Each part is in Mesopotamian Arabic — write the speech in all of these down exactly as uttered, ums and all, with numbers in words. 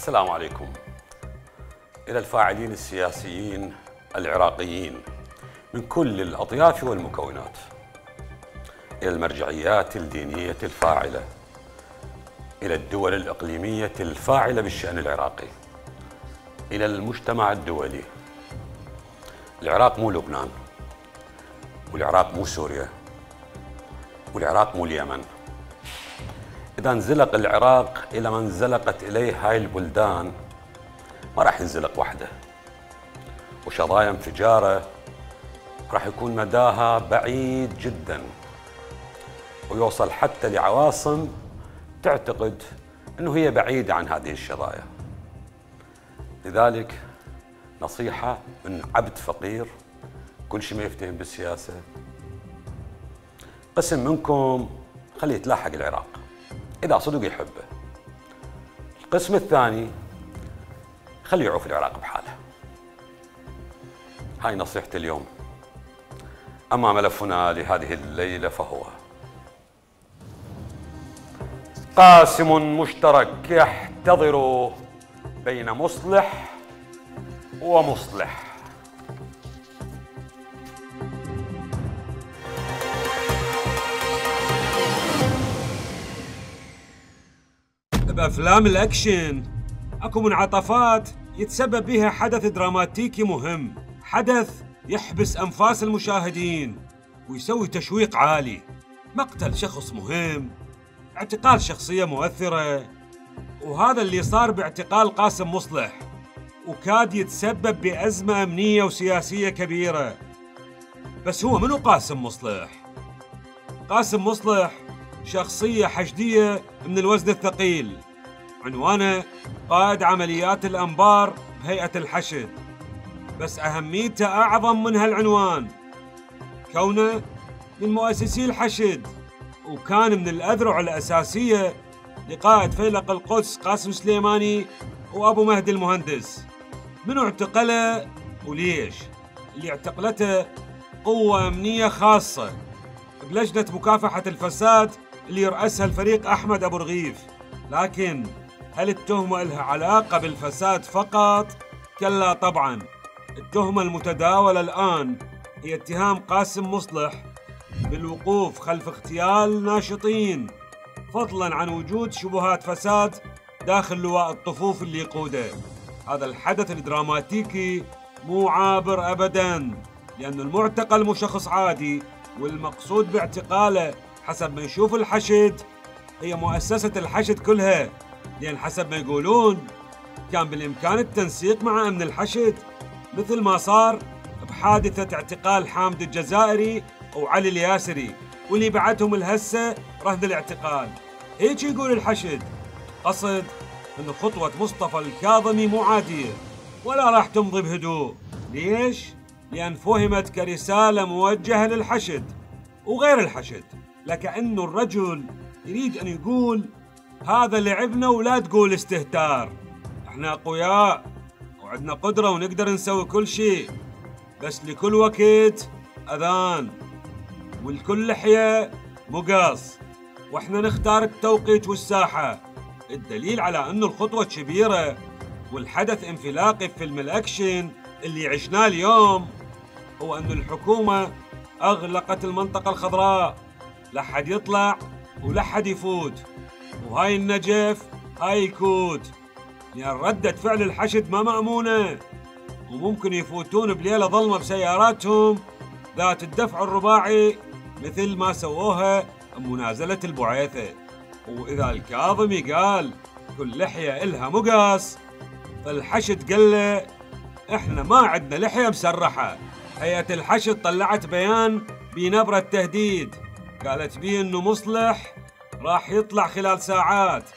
السلام عليكم. إلى الفاعلين السياسيين العراقيين من كل الأطياف والمكونات، إلى المرجعيات الدينية الفاعلة، إلى الدول الإقليمية الفاعلة بالشأن العراقي، إلى المجتمع الدولي. العراق مو لبنان، والعراق مو سوريا، والعراق مو اليمن. إذا انزلق العراق إلى ما انزلقت إليه هاي البلدان ما راح ينزلق وحده، وشظايا انفجاره راح يكون مداها بعيد جدا، ويوصل حتى لعواصم تعتقد أنه هي بعيدة عن هذه الشظايا. لذلك نصيحة من عبد فقير كل شيء ما يفتهم بالسياسة: قسم منكم خليه يتلاحق العراق إذا صدق يحبه. القسم الثاني خليه يعوف العراق بحاله. هاي نصيحتي اليوم. أما ملفنا لهذه الليلة فهو قاسم مشترك يحتضر بين مصلح ومصلح. بأفلام الأكشن أكو منعطفات يتسبب بها حدث دراماتيكي مهم، حدث يحبس أنفاس المشاهدين ويسوي تشويق عالي. مقتل شخص مهم، اعتقال شخصية مؤثرة، وهذا اللي صار باعتقال قاسم مصلح، وكاد يتسبب بأزمة أمنية وسياسية كبيرة. بس هو منو قاسم مصلح؟ قاسم مصلح شخصية حشدية من الوزن الثقيل، عنوانه قائد عمليات الأنبار بهيئة الحشد. بس أهميته أعظم من هالعنوان، كونه من مؤسسي الحشد، وكان من الأذرع الأساسية لقائد فيلق القدس قاسم سليماني وأبو مهدي المهندس. منو اعتقله وليش؟ اللي اعتقلته قوة أمنية خاصة بلجنة مكافحة الفساد اللي يرأسها الفريق أحمد أبو رغيف. لكن هل التهمة لها علاقة بالفساد فقط؟ كلا طبعاً. التهمة المتداولة الآن هي اتهام قاسم مصلح بالوقوف خلف اغتيال ناشطين، فضلاً عن وجود شبهات فساد داخل لواء الطفوف اللي يقوده. هذا الحدث الدراماتيكي مو عابر أبداً، لأن المعتقل مو شخص عادي، والمقصود باعتقاله حسب ما يشوف الحشد هي مؤسسة الحشد كلها، لأن حسب ما يقولون كان بالإمكان التنسيق مع أمن الحشد، مثل ما صار بحادثة اعتقال حامد الجزائري وعلي الياسري، واللي بعتهم الهسة رهن الاعتقال. هيك يقول الحشد. قصد أن خطوة مصطفى الكاظمي مو عادية ولا راح تمضي بهدوء. ليش؟ لأن فهمت كرسالة موجهة للحشد وغير الحشد، لكأنه الرجل يريد أن يقول هذا لعبنا ولا تقول استهتار، احنا أقوياء وعندنا قدرة ونقدر نسوي كل شيء، بس لكل وقت أذان والكل لحية مقص، واحنا نختار التوقيت والساحة. الدليل على أنه الخطوة كبيرة والحدث انفلاقي في فيلم الأكشن اللي عشناه اليوم هو أن الحكومة أغلقت المنطقة الخضراء، لا حد يطلع ولا حد يفوت، وهاي النجف هاي الكود، لأن ردة فعل الحشد ما مأمونة، وممكن يفوتون بليلة ظلمة بسياراتهم ذات الدفع الرباعي مثل ما سووها بمنازلة البعيثة. وإذا الكاظمي قال كل لحية إلها مقص، فالحشد قال له إحنا ما عندنا لحية مسرحة. هيئة الحشد طلعت بيان بنبرة تهديد، قالت بيه إنه مصلح راح يطلع خلال ساعات،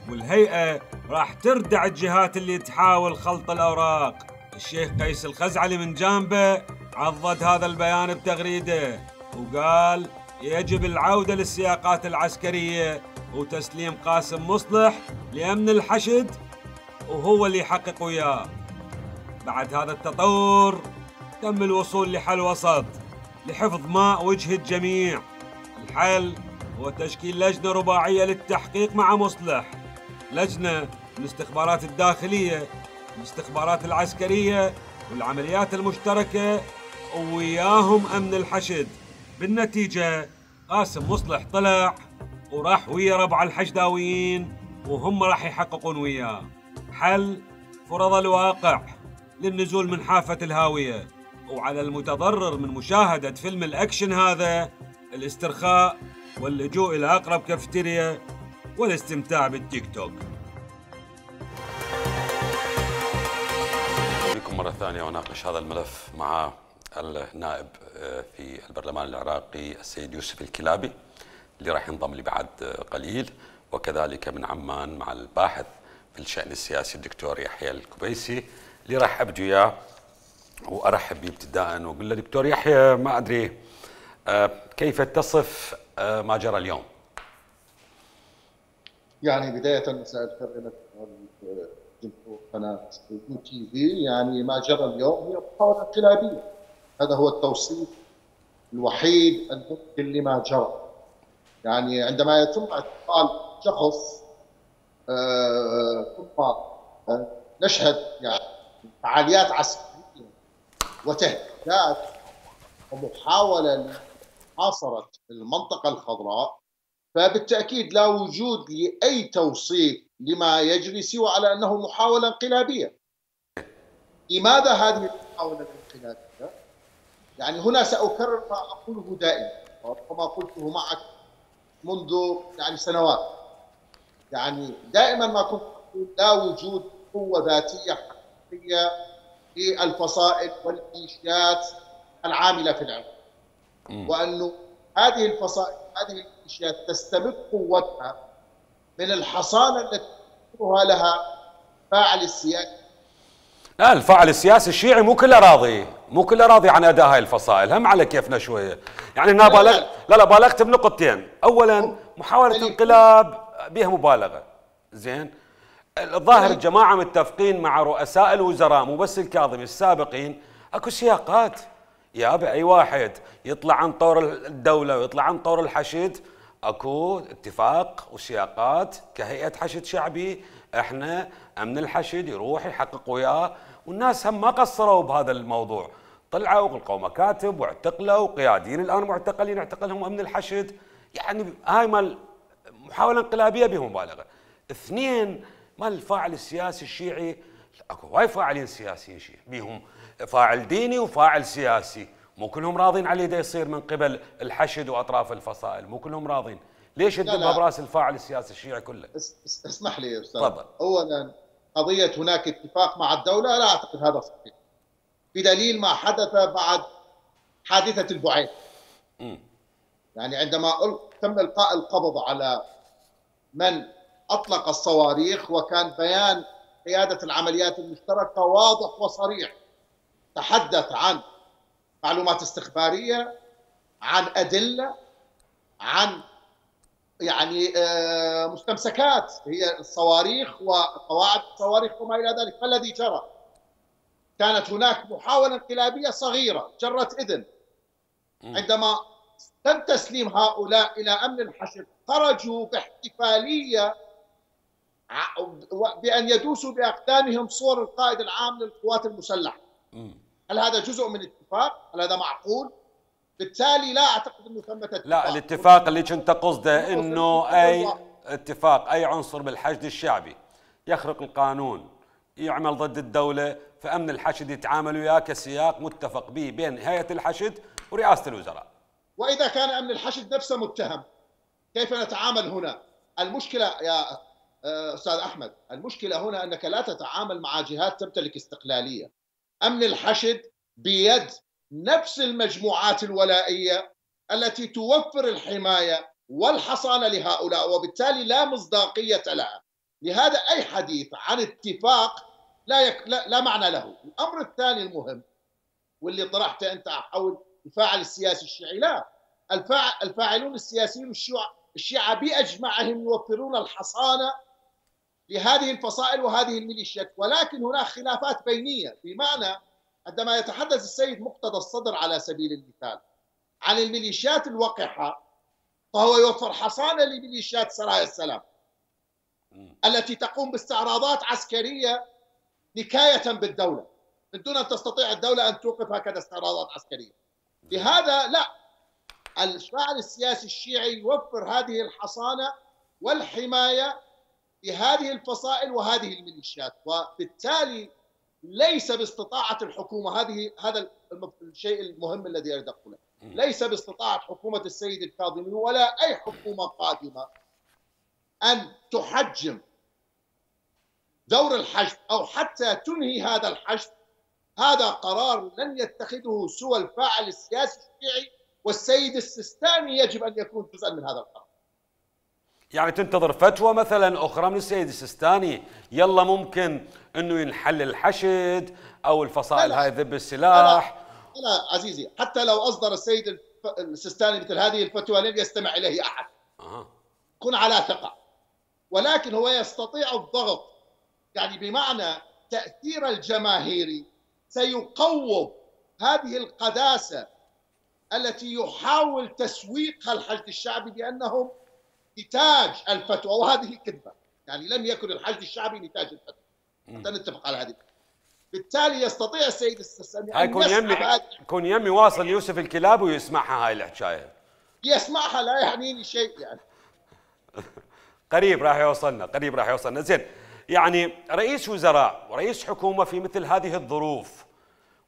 والهيئة راح تردع الجهات اللي تحاول خلط الأوراق. الشيخ قيس الخزعلي من جانبه عضد هذا البيان بتغريده وقال يجب العودة للسياقات العسكرية وتسليم قاسم مصلح لأمن الحشد وهو اللي يحقق وياه. بعد هذا التطور تم الوصول لحل وسط لحفظ ماء وجه الجميع. الحل هو تشكيل لجنة رباعية للتحقيق مع مصلح، لجنة الاستخبارات الداخلية، الاستخبارات العسكرية والعمليات المشتركة، وياهم أمن الحشد. بالنتيجة قاسم مصلح طلع وراح ويا ربع الحشداويين، وهم راح يحققون وياه. حل فرض الواقع للنزول من حافة الهاوية، وعلى المتضرر من مشاهدة فيلم الأكشن هذا الاسترخاء واللجوء إلى أقرب كافتيريا والاستمتاع بالتيك توك. بكم مرة ثانية وناقش هذا الملف مع النائب في البرلمان العراقي السيد يوسف الكلابي اللي راح ينضم لي بعد قليل، وكذلك من عمان مع الباحث في الشأن السياسي الدكتور يحيى الكبيسي اللي راح أبدو إياه وأرحب به ابتداء وأقول له دكتور يحيى، ما أدري كيف تصف ما جرى اليوم؟ يعني بداية مساء الخير لك جمهور قناة يو تي في. يعني ما جرى اليوم هي محاولة انقلابية، هذا هو التوصيف الوحيد الممكن لما جرى. يعني عندما يتم اعتقال شخص ثم نشهد يعني فعاليات عسكرية وتهديدات ومحاولة لمحاصرة المنطقة الخضراء، فبالتأكيد لا وجود لأي توصيف لما يجري سوى على أنه محاولة انقلابية. لماذا هذه المحاولة الانقلابية؟ يعني هنا سأكرر ما أقوله دائما وما قلته معك منذ يعني سنوات. يعني دائما ما كنت أقول لا وجود قوة ذاتية حقيقية في الفصائل والميليشيات العاملة في العراق، وأنه هذه الفصائل هذه الميليشيات تستمد قوتها من الحصانة التي يذكرها لها فاعل السياسي. لا، الفاعل السياسي الشيعي مو كله راضي، مو كله راضي عن اداء هاي الفصائل، هم على كيفنا شويه. يعني انا بالغ لا لا بالغت بنقطتين. اولا محاوله انقلاب بها مبالغه. زين، الظاهر الجماعه متفقين مع رؤساء الوزراء مو بس الكاظمي السابقين، اكو سياقات يا اي واحد يطلع عن طور الدوله ويطلع عن طور الحشد، اكو اتفاق وسياقات كهيئه حشد شعبي، احنا امن الحشد يروح يحقق وياه، والناس هم ما قصروا بهذا الموضوع، طلعوا وغلقوا مكاتب واعتقلوا قياديين الان معتقلين اعتقلهم امن الحشد. يعني هاي مال محاوله انقلابيه بمبالغه. اثنين، مال الفاعل السياسي الشيعي، اكو هواي فاعلين سياسيين شيعي بيهم فاعل ديني وفاعل سياسي، مو كلهم راضين عليه دا يصير من قبل الحشد واطراف الفصائل، مو كلهم راضين. ليش الدبه براس الفاعل السياسي الشيعي كله؟ اسمح لي يا استاذ. طبعا. اولا قضيه هناك اتفاق مع الدوله، لا اعتقد هذا صحيح، بدليل ما حدث بعد حادثه البعيد. امم يعني عندما تم القاء القبض على من اطلق الصواريخ، وكان بيان قياده العمليات المشتركه واضح وصريح، تحدث عن معلومات استخباريه، عن ادله، عن يعني مستمسكات هي الصواريخ وقواعد الصواريخ وما الى ذلك. فالذي جرى كانت هناك محاوله انقلابيه صغيره جرت اذن. عندما تم تسليم هؤلاء الى امن الحشد خرجوا باحتفاليه بان يدوسوا باقدامهم صور القائد العام للقوات المسلحه. هل هذا جزء من اتفاق؟ هل هذا معقول؟ بالتالي لا اعتقد انه ثمه اتفاق. لا، الاتفاق اللي كنت قصده انه اي اتفاق اي عنصر بالحشد الشعبي يخرق القانون يعمل ضد الدوله، فامن الحشد يتعامل وياه كسياق متفق به بين هيئه الحشد ورئاسه الوزراء. واذا كان امن الحشد نفسه متهم، كيف نتعامل هنا؟ المشكله يا استاذ احمد، المشكله هنا انك لا تتعامل مع جهات تمتلك استقلاليه. امن الحشد بيد نفس المجموعات الولائيه التي توفر الحمايه والحصانه لهؤلاء، وبالتالي لا مصداقيه لها. لهذا اي حديث عن اتفاق لا يك... لا... لا معنى له. الامر الثاني المهم واللي طرحته انت حول الفاعل السياسي الشيعي، لا، الفاعل الفاعلون السياسيون الشيعة الشيعة باجمعهم يوفرون الحصانه لهذه الفصائل وهذه الميليشيات، ولكن هناك خلافات بينيه. بمعنى عندما يتحدث السيد مقتدى الصدر على سبيل المثال عن الميليشيات الوقحه، فهو يوفر حصانه لميليشيات سرايا السلام. التي تقوم باستعراضات عسكرية نكاية بالدولة من دون أن تستطيع الدولة أن توقف هكذا استعراضات عسكرية. لهذا لا، الفاعل السياسي الشيعي يوفر هذه الحصانة والحماية لهذه الفصائل وهذه الميليشيات، وبالتالي ليس باستطاعة الحكومة، هذه هذا الشيء المهم الذي أريد أقوله، ليس باستطاعة حكومة السيد الكاظمي ولا أي حكومة قادمة أن تحجم دور الحشد أو حتى تنهي هذا الحشد. هذا قرار لن يتخذه سوى الفاعل السياسي الشيعي، والسيد السيستاني يجب أن يكون جزءا من هذا القرار. يعني تنتظر فتوى مثلا أخرى من السيد السيستاني يلا ممكن أنه ينحل الحشد أو الفصائل هاي ذب السلاح؟ لا, لا عزيزي، حتى لو أصدر السيد السيستاني مثل هذه الفتوى لن يستمع إليه أحد. أه. كن على ثقة. ولكن هو يستطيع الضغط، يعني بمعنى تأثير الجماهيري سيقوض هذه القداسة التي يحاول تسويقها الحشد الشعبي بأنهم نتاج الفتوى، وهذه كذبة. يعني لم يكن الحشد الشعبي نتاج الفتوى، حتى نتفق على هذه. بالتالي يستطيع السيد السيستاني أن يكون يمي يكون يمي واصل يوسف الكلاب ويسمعها هاي الحكاية. يسمعها لا يعنيني شيء يعني. قريب راح يوصلنا، قريب راح يوصلنا. زين، يعني رئيس وزراء ورئيس حكومة في مثل هذه الظروف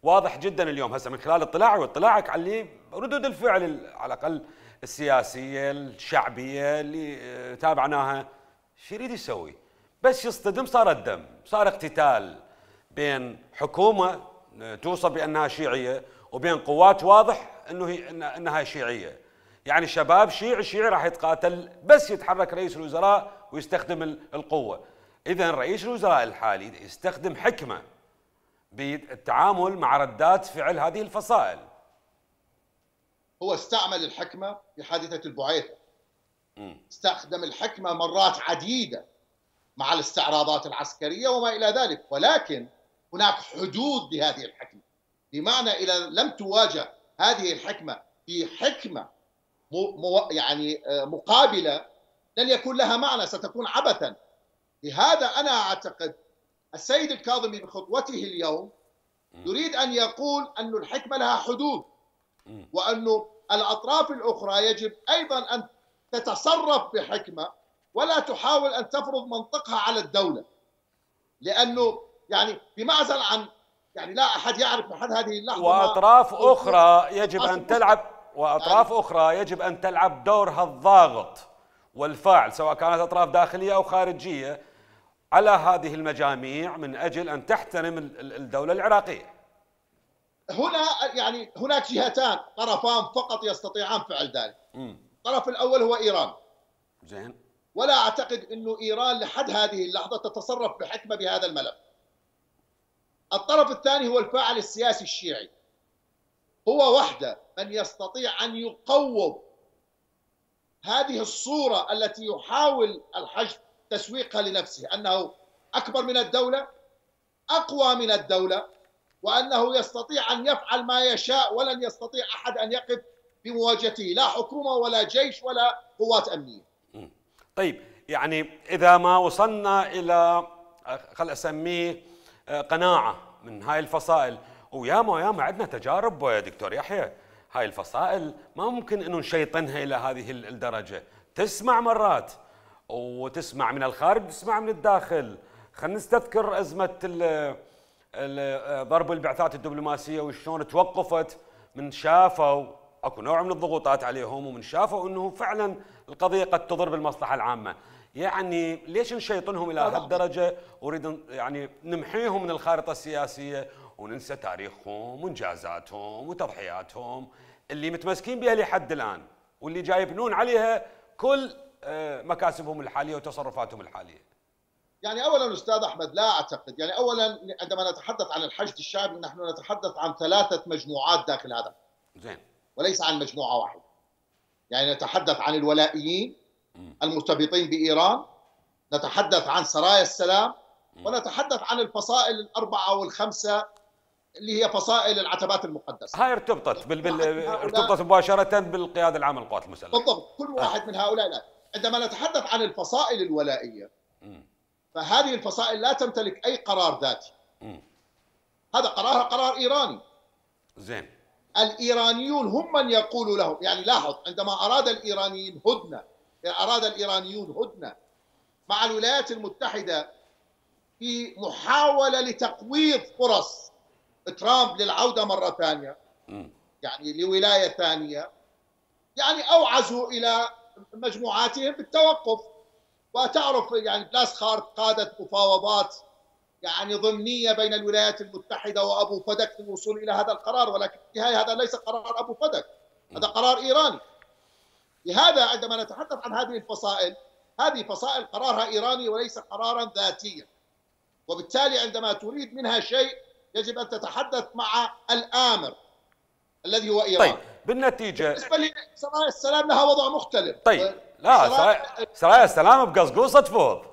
واضح جدا اليوم هسه من خلال اطلاعي واطلاعك على ردود الفعل على الأقل السياسية الشعبية اللي تابعناها، شو يريد يسوي؟ بس يصطدم صار الدم، صار اقتتال بين حكومة توصف بأنها شيعية وبين قوات واضح أنه هي أنها شيعية. يعني شباب شيعي شيعي راح يتقاتل، بس يتحرك رئيس الوزراء ويستخدم القوة. إذن رئيس الوزراء الحالي يستخدم حكمة بالتعامل مع ردات فعل هذه الفصائل. هو استعمل الحكمة في حادثة البعيثة، استخدم الحكمة مرات عديدة مع الاستعراضات العسكرية وما إلى ذلك، ولكن هناك حدود لهذه الحكمة. بمعنى إذا لم تواجه هذه الحكمة في حكمة مو يعني مقابلة لن يكون لها معنى، ستكون عبثا. لهذا أنا أعتقد السيد الكاظمي بخطوته اليوم يريد أن يقول أن الحكمة لها حدود، وأن الأطراف الأخرى يجب أيضا أن تتصرف بحكمة ولا تحاول أن تفرض منطقها على الدولة، لأنه يعني بمعزل عن يعني لا أحد يعرف لحد هذه اللحظة. وأطراف أخرى يجب أن تلعب وأطراف يعني أخرى يجب أن تلعب دورها الضاغط والفاعل، سواء كانت أطراف داخلية أو خارجية، على هذه المجاميع من أجل أن تحترم الدولة العراقية. هنا يعني هناك جهتان، طرفان فقط يستطيعان فعل ذلك. الطرف الأول هو إيران. زين. ولا أعتقد أنه إيران لحد هذه اللحظة تتصرف بحكمة بهذا الملف. الطرف الثاني هو الفاعل السياسي الشيعي، هو وحده من يستطيع أن يقوض هذه الصورة التي يحاول الحشد تسويقها لنفسه، أنه أكبر من الدولة، أقوى من الدولة، وأنه يستطيع أن يفعل ما يشاء ولن يستطيع أحد أن يقف بمواجهته، لا حكومة ولا جيش ولا قوات أمنية. طيب، يعني إذا ما وصلنا إلى خل أسميه قناعة من هاي الفصائل، وياما ياما عندنا تجارب يا دكتور يحيى، هاي الفصائل ما ممكن انه نشيطنها الى هذه الدرجه، تسمع مرات وتسمع من الخارج تسمع من الداخل. خلينا نستذكر ازمه ضرب البعثات الدبلوماسيه وشلون توقفت من شافوا اكو نوع من الضغوطات عليهم، ومن شافوا انه فعلا القضيه قد تضر بالمصلحه العامه. يعني ليش نشيطنهم الى هالدرجه ونريد يعني نمحيهم من الخارطه السياسيه وننسى تاريخهم وانجازاتهم وتضحياتهم اللي متمسكين بها لحد الان، واللي جاي يبنون عليها كل مكاسبهم الحاليه وتصرفاتهم الحاليه؟ يعني اولا استاذ احمد لا اعتقد، يعني اولا عندما نتحدث عن الحشد الشعبي نحن نتحدث عن ثلاثه مجموعات داخل هذا. زين. وليس عن مجموعه واحده. يعني نتحدث عن الولائيين المرتبطين بايران، نتحدث عن سرايا السلام، ونتحدث عن الفصائل الاربعه والخمسه اللي هي فصائل العتبات المقدسه. هاي ارتبطت بال... بال... ارتبطت مباشره بالقياده العامه للقوات المسلحه. بالضبط، كل واحد آه. من هؤلاء لا. عندما نتحدث عن الفصائل الولائيه فهذه الفصائل لا تمتلك اي قرار ذاتي. هذا قرارها قرار ايراني. زين. الايرانيون هم من يقولوا لهم، يعني لاحظ عندما اراد الايرانيين هدنه، اراد الايرانيون هدنه مع الولايات المتحده في محاوله لتقويض فرص ترامب للعوده مره ثانيه، يعني لولايه ثانيه، يعني اوعزوا الى مجموعاتهم بالتوقف. وتعرف يعني بلاسخارت قادت مفاوضات يعني ضمنيه بين الولايات المتحده وابو فدك للوصول الى هذا القرار، ولكن في النهايه هذا ليس قرار ابو فدك، هذا قرار ايراني. لهذا عندما نتحدث عن هذه الفصائل، هذه فصائل قرارها ايراني وليس قرارا ذاتيا، وبالتالي عندما تريد منها شيء يجب ان تتحدث مع الامر الذي هو ايران. طيب بالنتيجه بالنسبه لسرايا السلام لها وضع مختلف. طيب لا، سرايا سرايا السلام بقصقوصه تفوض.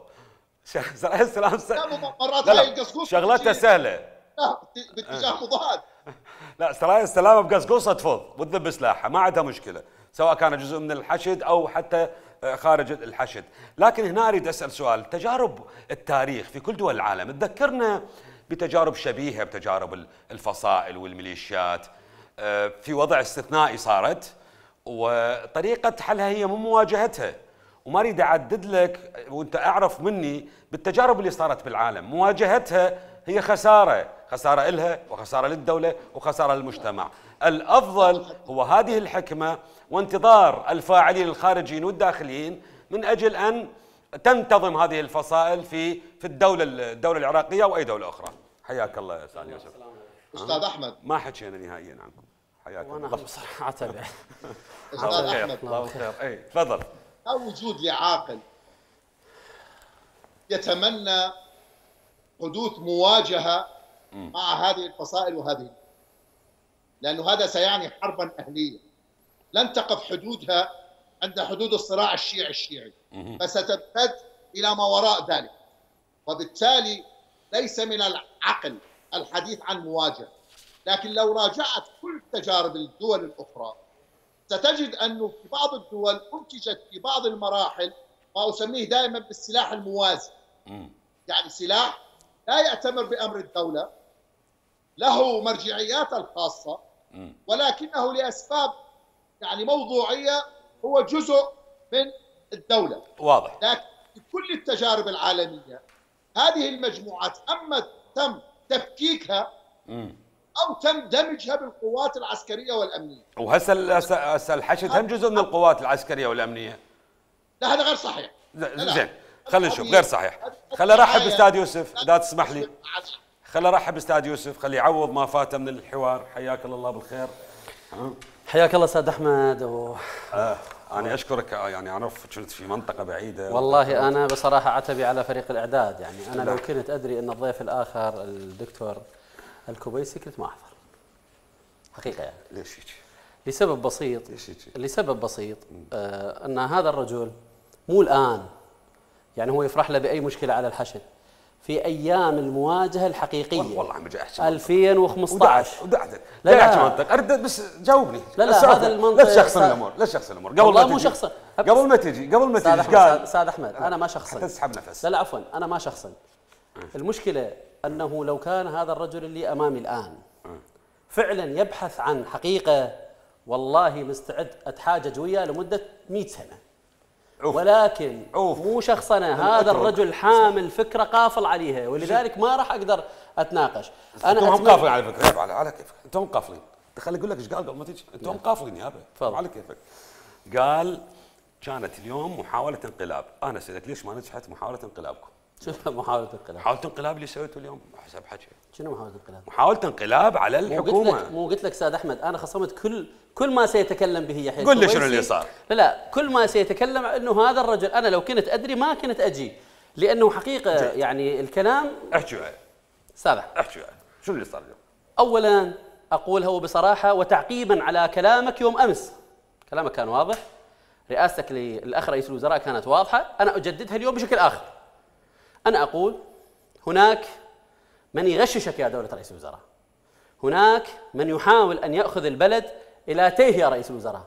سرايا السلام س... مرات هاي القصقوصه شغلتها سهله باتجاه مضاد. لا، سرايا السلام بقصقوصه تفوض وتذب سلاحها، ما عندها مشكله، سواء كان جزء من الحشد او حتى خارج الحشد. لكن هنا اريد اسال سؤال، تجارب التاريخ في كل دول العالم تذكرنا بتجارب شبيهه بتجارب الفصائل والميليشيات في وضع استثنائي صارت، وطريقه حلها هي مو مواجهتها. وما اريد اعدد لك، وانت اعرف مني بالتجارب اللي صارت بالعالم، مواجهتها هي خساره، خساره إلها وخساره للدوله وخساره للمجتمع. الافضل هو هذه الحكمه وانتظار الفاعلين الخارجيين والداخليين من اجل ان تنتظم هذه الفصائل في في الدوله الدوله العراقيه واي دوله اخرى. حياك الله يا استاذ يوسف. استاذ احمد، ما حكينا نهائيا عنكم. حياك الله. وانا بصراحه اتابع. استاذ احمد، الله خير. اي تفضل. لا وجود لعاقل يتمنى حدوث مواجهه مع هذه الفصائل وهذه، لانه هذا سيعني حربا اهليه لن تقف حدودها عند حدود الصراع الشيعي الشيعي، فستمتد الى ما وراء ذلك. وبالتالي ليس من العقل الحديث عن مواجهه. لكن لو راجعت كل تجارب الدول الاخرى ستجد انه في بعض الدول انتجت في بعض المراحل ما اسميه دائما بالسلاح الموازي. يعني سلاح لا يأتمر بامر الدوله، له مرجعياته الخاصه، ولكنه لاسباب يعني موضوعيه هو جزء من الدوله. واضح. لكن في كل التجارب العالميه هذه المجموعات اما تم تفكيكها او تم دمجها بالقوات العسكريه والامنيه. وهسه هسه الحشد هم جزء من القوات العسكريه والامنيه. لا هذا غير صحيح. زين، خلينا نشوف. غير صحيح. خلي ارحب باستاذ يوسف اذا تسمح لي. خلي ارحب باستاذ يوسف، خلي يعوض ما فاته من الحوار. حياك الله بالخير. حياك الله استاذ احمد. و... آه. انا اشكرك، يعني اعرف كنت في منطقه بعيده. والله انا بصراحه عتبي على فريق الاعداد، يعني انا لو كنت ادري ان الضيف الاخر الدكتور الكوبيسي كنت ما احضر حقيقه. يعني ليش هيك؟ لسبب بسيط. ليش هيك؟ لسبب بسيط آه ان هذا الرجل مو الان يعني هو يفرح له باي مشكله على الحشد، في ايام المواجهه الحقيقيه والله عم بجي احكي ألفين وخمسة عشر. ودعت لا لا احكي منطق، ارد بس جاوبني. لا لا هذا المنطق لا تشخصن الامور، لا تشخصن الامور قبل والله ما مو تجي. شخصا، قبل ما تجي قبل ما تجي قال استاذ احمد انا ما شخصا، تسحب نفس. لا لا عفوا انا ما شخصا. المشكله انه لو كان هذا الرجل اللي امامي الان فعلا يبحث عن حقيقه، والله مستعد اتحاجج وياه لمده مئة سنه. أوف. ولكن أوف. مو شخصنا، هذا الرجل حامل فكره قافل عليها، ولذلك ما راح اقدر اتناقش. انا انتم هم قافلين على فكره، على على كيفك انتم قافلين. خلي اقول لك ايش قال قبل ما تجي. انتم قافلين يابا على كيفك. قال كانت اليوم محاوله انقلاب. انا سالت ليش ما نجحت محاوله انقلابكم؟ شنو محاوله انقلاب؟ محاوله انقلاب اللي سويته اليوم حسب حكي. شنو محاوله انقلاب؟ محاوله انقلاب على الحكومه. مو قلت لك مو قلت لك استاذ احمد انا خصمت كل كل ما سيتكلم به يحيى. قل لي شنو اللي صار. لا لا كل ما سيتكلم انه هذا الرجل، انا لو كنت ادري ما كنت اجي، لانه حقيقه جي. يعني الكلام احكي وياي استاذ احمد. احكي وياي شنو اللي صار اليوم؟ اولا اقوله بصراحه وتعقيبا على كلامك يوم امس، كلامك كان واضح، رئاستك للاخ رئيس الوزراء كانت واضحه، انا اجددها اليوم بشكل اخر. انا اقول هناك من يغششك يا دوله رئيس الوزراء، هناك من يحاول ان ياخذ البلد الى تيه يا رئيس الوزراء.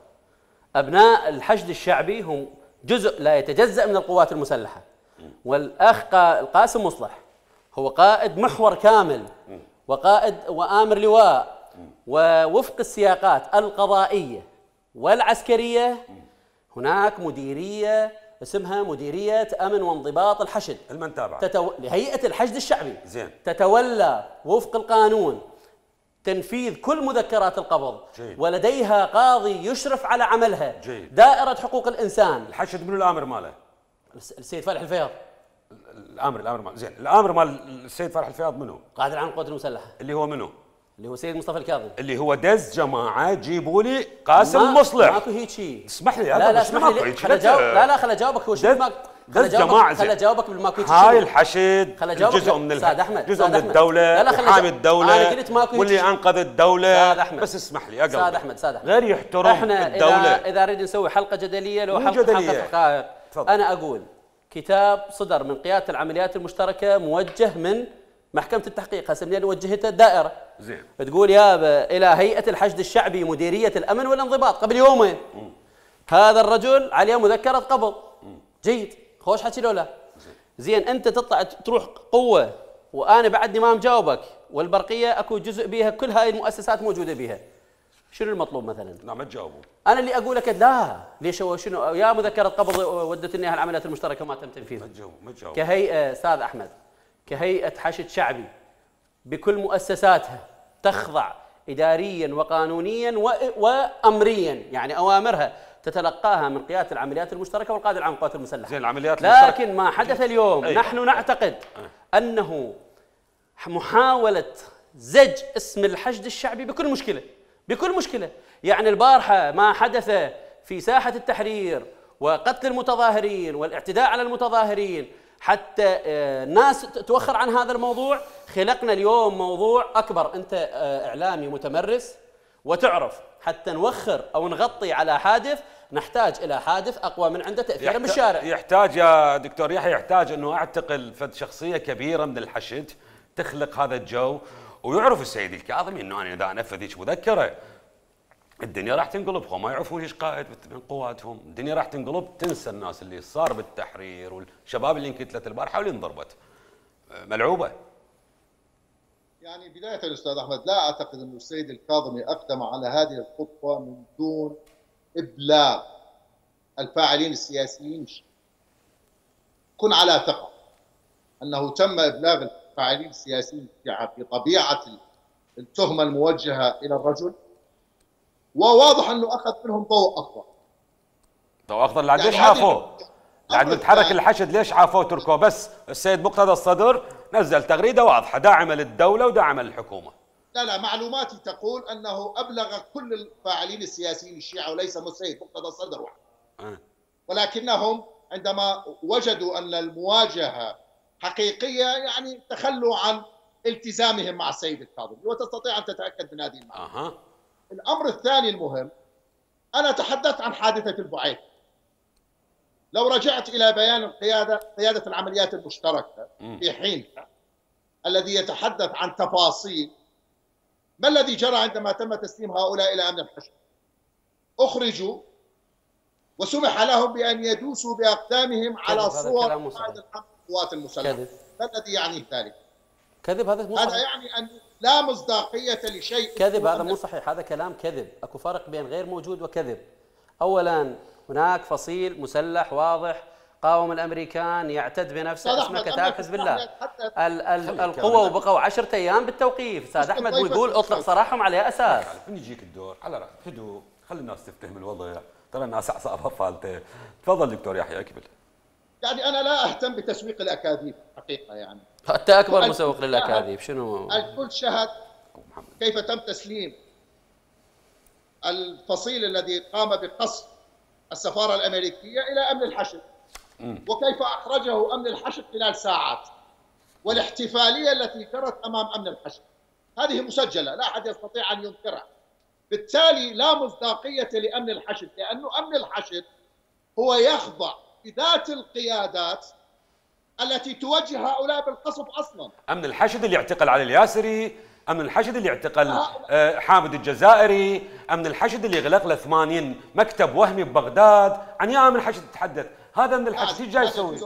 ابناء الحشد الشعبي هم جزء لا يتجزا من القوات المسلحه، والاخ قا- القاسم مصلح هو قائد محور كامل وقائد وآمر لواء، ووفق السياقات القضائية والعسكرية هناك مديرية اسمها مديرية أمن وانضباط الحشد المن تابعه تتو... لهيئة الحشد الشعبي زين. تتولى وفق القانون تنفيذ كل مذكرات القبض. جيد. ولديها قاضي يشرف على عملها. جيد. دائرة حقوق الإنسان. الحشد منو الامر ماله؟ الس- السيد فالح الفياض الامر الامر مال زين، الامر مال السيد فرح الفياض منو؟ قائد العام للقوات المسلحة اللي هو منو؟ اللي هو سيد مصطفى الكاظم. اللي هو دز جماعه جيبوا لي قاسم ما- مصلح. ماكو هيك شيء. اسمح لي لا لا اسمح لي خل اجاوب. لا لا خل اجاوبك. هو شو دز- ما دز جماعه خل زين. اجاوبك بالماكو هيك هاي شيء. الحشد خل أجاوبك. جزء من أستاذ أحمد، جزء أستاذ من أحمد. الدوله، لا لا خل وحامي أجاوب. الدوله، أنا قلت ماكو هيك واللي شيء. انقذ الدوله. أستاذ أحمد. بس اسمح لي اقلب. استاذ احمد استاذ احمد غير يحترم احنا الدوله. اذا اذا نريد نسوي حلقه جدليه لو مو حلقه جدلية. حلقه حقائق. تفضل. انا اقول كتاب صدر من قياده العمليات المشتركه موجه من محكمه التحقيق، هسه منين وجهته الدائره. زين. تقول يابا الى هيئه الحشد الشعبي مديريه الامن والانضباط قبل يومين. مم. هذا الرجل عليه مذكره قبض. مم. جيد، خوش حكي لو لا؟ زين انت تطلع تروح قوه وانا بعدني ما مجاوبك، والبرقيه اكو جزء بيها كل هاي المؤسسات موجوده بيها. شنو المطلوب مثلا؟ لا ما تجاوبوا. انا اللي اقول لك لا، ليش هو شنو يا مذكره قبض ودتني اياها العمليات المشتركه ما تم تنفيذها. ما تجاوبوا ما تجاوبوا. كهيئه استاذ احمد، كهيئه حشد شعبي بكل مؤسساتها تخضع اداريا وقانونيا و- وامريا، يعني اوامرها تتلقاها من قياده العمليات المشتركه والقائد العام للقوات المسلحه. زين العمليات المشتركة. لكن ما حدث اليوم أي. نحن نعتقد انه محاوله زج اسم الحشد الشعبي بكل مشكله، بكل مشكله، يعني البارحه ما حدث في ساحه التحرير وقتل المتظاهرين والاعتداء على المتظاهرين حتى آه، الناس توخر عن هذا الموضوع. خلقنا اليوم موضوع اكبر. انت آه، اعلامي متمرس وتعرف حتى نوخر او نغطي على حادث نحتاج الى حادث اقوى من عنده تاثيرا يحت- بالشارع. يحتاج يا دكتور يحيى، يحتاج انه اعتقل فد شخصيه كبيره من الحشد تخلق هذا الجو، ويعرف السيد الكاظمي انه انا اذا انفذ هيك مذكره الدنيا راح تنقلب، هم ما يعرفون ايش قائد من قواتهم، الدنيا راح تنقلب، تنسى الناس اللي صار بالتحرير والشباب اللي انقتلت البارحه واللي انضربت. ملعوبه. يعني بداية أستاذ أحمد، لا أعتقد أن السيد الكاظمي أقدم على هذه الخطوة من دون إبلاغ الفاعلين السياسيين. كن على ثقة أنه تم إبلاغ الفاعلين السياسيين بطبيعة التهمة الموجهة إلى الرجل، وواضح أنه أخذ منهم ضوء أخضر. ضوء اخضر لعد ليش يعني هذه- عافوه؟ لعد أمر متحرك ثاني. الحشد ليش عافوه تركوه؟ بس السيد مقتدى الصدر نزل تغريده واضحه داعمه للدوله وداعمه للحكومه. لا لا، معلوماتي تقول أنه أبلغ كل الفاعلين السياسيين الشيعة وليس السيد مقتدى الصدر وحده. أه. ولكنهم عندما وجدوا أن المواجهة حقيقية يعني تخلوا عن التزامهم مع السيد الكاظمي، وتستطيع أن تتأكد من هذه المعلومة. اها. الأمر الثاني المهم، أنا تحدثت عن حادثة البعيث. لو رجعت إلى بيان القيادة قيادة العمليات المشتركة في حينها الذي يتحدث عن تفاصيل ما الذي جرى عندما تم تسليم هؤلاء إلى أمن الحشد. أخرجوا وسمح لهم بأن يدوسوا بأقدامهم على هذا صور كلام مو صحيح. قائد القوات المسلحة. كذب. ما الذي يعنيه ذلك؟ كذب، هذا مو هذا صحيح. يعني أن لا مصداقية لشيء. كذب، هذا مو صحيح، هذا كلام كذب. اكو فرق بين غير موجود وكذب. اولا هناك فصيل مسلح واضح قاوم الامريكان يعتد بنفسه أستاذ اسمه أحمد، كتائب أما حزب الله. حتى ال ال خلي القوة الكلام. وبقوا عشرة ايام بالتوقيف، استاذ أستاذ احمد، ضيفة ويقول اطلق الأستاذ. سراحهم على اساس. من يجيك الدور على رأي هدوء، خلي الناس تفتهم الوضع، ترى الناس اعصابها فالته. تفضل دكتور يحيى اكمل. يعني أنا لا أهتم بتسويق الأكاذيب حقيقة. يعني حتى اكبر وال- مسوق للاكاذيب. شنو؟ الكل شهد أبو محمد. كيف تم تسليم الفصيل الذي قام بقصف السفارة الأمريكية إلى أمن الحشد، وكيف أخرجه أمن الحشد خلال ساعات، والاحتفالية التي جرت أمام أمن الحشد هذه مسجلة لا أحد يستطيع أن ينكرها. بالتالي لا مصداقية لأمن الحشد، لأنه أمن الحشد هو يخضع بذات القيادات التي توجه هؤلاء بالقصف أصلا. امن الحشد اللي اعتقل علي الياسري، امن الحشد اللي اعتقل آه، حامد الجزائري، امن الحشد اللي غلق له ثمانين مكتب وهمي ببغداد. عن يا امن الحشد تتحدث؟ هذا امن الحشد ايش جاي يسوي؟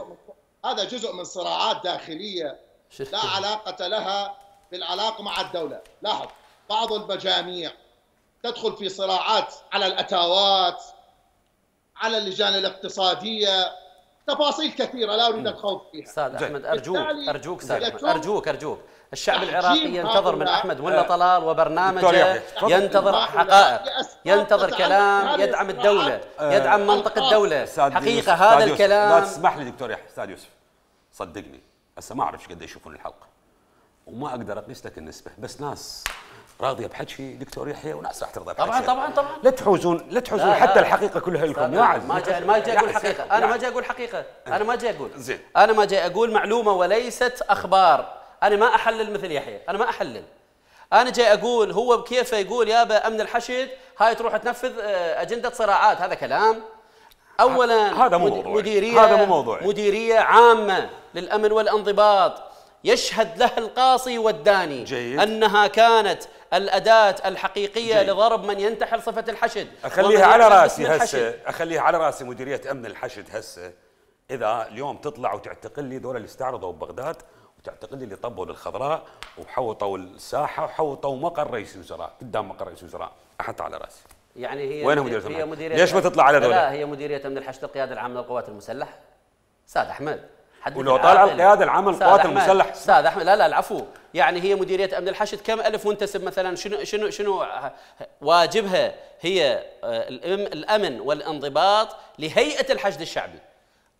هذا جزء من صراعات داخليه لا علاقه لها بالعلاقه مع الدوله. لاحظ بعض المجاميع تدخل في صراعات على الاتاوات، على اللجان الاقتصاديه، تفاصيل كثيره لا اريد الخوض فيها. استاذ احمد ارجوك ارجوك استاذ احمد ارجوك ارجوك الشعب العراقي ينتظر من احمد ملا طلال وبرنامجه، ينتظر حقائق، ينتظر كلام يدعم الدوله، يدعم منطق الدوله. حقيقه هذا الكلام. لا تسمح لي دكتور يحيى. استاذ يوسف صدقني هسه ما اعرف ايش قد يشوفون الحلقه وما اقدر اقيس لك النسبه، بس ناس راضيه بحكي دكتور يحيى وناس راح ترضى بحكي. طبعا طبعا طبعا لا تحوزون لا تحوزون حتى لا. الحقيقه كلها لكم يا عز. ما جاي ما جاي اقول حقيقه، انا ما جاي اقول حقيقه، انا ما جاي اقول زين، انا ما جاي اقول معلومه وليست اخبار. انا ما احلل مثل يحيى، انا ما احلل. انا جاي اقول هو بكيفه يقول يابا امن الحشد هاي تروح تنفذ اجنده صراعات، هذا كلام. اولا هذا مو موضوع، مديريه هذا مو موضوع. مديريه عامه للامن والانضباط يشهد له القاصي والداني جيد. انها كانت الاداه الحقيقيه جيد. لضرب من ينتحل صفه الحشد. اخليها على راسي هسه، اخليها على راسي مديريه امن الحشد هسه. اذا اليوم تطلع وتعتقل لي دول اللي استعرضوا ببغداد، وتعتقل لي اللي طبوا للخضراء وحوطوا الساحه وحوطوا مقر رئيس الوزراء قدام مقر رئيس الوزراء، احط على راسي. يعني هي وين مديرية هي مديرية ليش ما تطلع على دولة؟ لا هي مديريه امن الحشد القياده العامه للقوات المسلحه. استاذ احمد ولو طالع القياده العامه للقوات المسلحه استاذ احمد لا لا العفو، يعني هي مديريه امن الحشد كم الف منتسب مثلا؟ شنو شنو شنو واجبها؟ هي الامن والانضباط لهيئه الحشد الشعبي.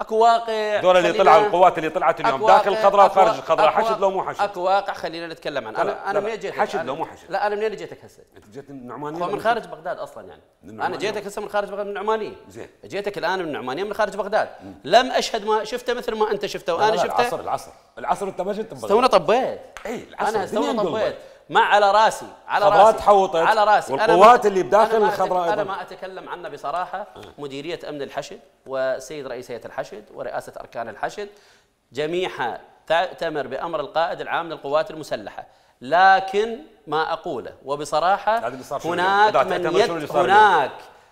اكو واقع دول اللي طلعوا القوات اللي طلعت اليوم داخل الخضراء وخارج الخضراء، حشد لو مو حشد؟ اكو واقع خلينا نتكلم عنه. انا انا منين جيتك؟ حشد لو مو حشد؟ لا انا منين جيتك هسه؟ انت جيت من النعمانيه من خارج بغداد اصلا يعني. انا جيتك هسه من خارج بغداد من النعمانيه. زين جيتك الان من النعمانيه من خارج بغداد. مم. لم اشهد ما شفته مثل ما انت شفته وانا شفته. العصر العصر العصر انت ما جيت بغداد. استونا طبيت. اي العصر انا استونا طبيت مع على راسي على خضراء راسي تحوطت على راسي. والقوات اللي بداخل الخضراء. انا ما اتكلم عنه بصراحه. مديريه امن الحشد وسيد رئيس هيئه الحشد ورئاسه اركان الحشد جميعها تأتمر بامر القائد العام للقوات المسلحه، لكن ما اقوله وبصراحه هناك من يت هناك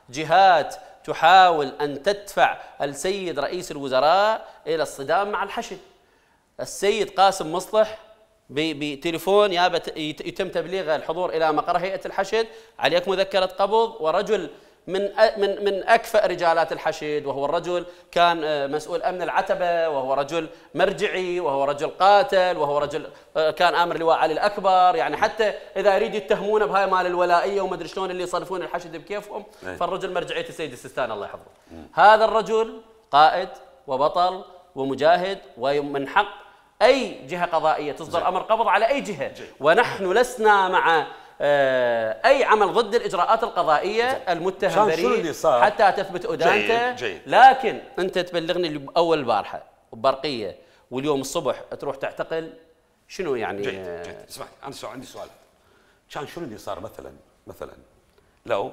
جهات تحاول ان تدفع السيد رئيس الوزراء الى الصدام مع الحشد. السيد قاسم مصلح بتليفون يابا يتم تبليغ الحضور الى مقر هيئه الحشد، عليك مذكره قبض، ورجل من من من اكفأ رجالات الحشد، وهو الرجل كان مسؤول امن العتبه، وهو رجل مرجعي، وهو رجل قاتل، وهو رجل كان امر لواء علي الاكبر. يعني حتى اذا يريد يتهمونه بهاي مال الولائيه وما ادري شلون اللي يصرفون الحشد بكيفهم، فالرجل مرجعيه السيد السيستاني الله يحفظه. هذا الرجل قائد وبطل ومجاهد، ومن حق اي جهه قضائيه تصدر جي. امر قبض على اي جهه جي. ونحن لسنا مع اي عمل ضد الاجراءات القضائيه جي. المتهم بريء حتى تثبت ادانته. لكن انت تبلغني اول البارحه وبرقيه واليوم الصبح تروح تعتقل، شنو يعني؟ جيد جيد اسمع انا سؤال عندي سؤال. كان شنو اللي صار مثلا مثلا لو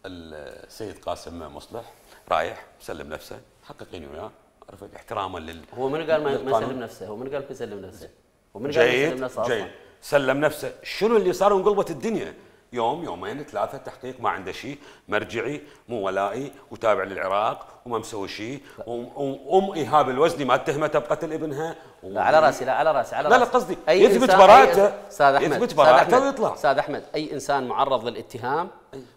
السيد قاسم مصلح رايح مسلم نفسه، حققيني وياه عرفت احتراما لل هو من قال ما يسلم نفسه؟ هو من قال يسلم نفسه؟ هو من قال يسلم نفسه اصلا؟ جيد سلم نفسه. شنو اللي صار وانقلبت الدنيا؟ يوم يومين ثلاثه تحقيق ما عنده شيء، مرجعي مو ولائي وتابع للعراق وما مسوي شيء، وام ايهاب الوزني ما اتهمته بقتل ابنها. لا على راسي لا على راسي على راسي. لا لا قصدي يثبت براءته. استاذ احمد يثبت براءته ويطلع. استاذ احمد اي انسان معرض للاتهام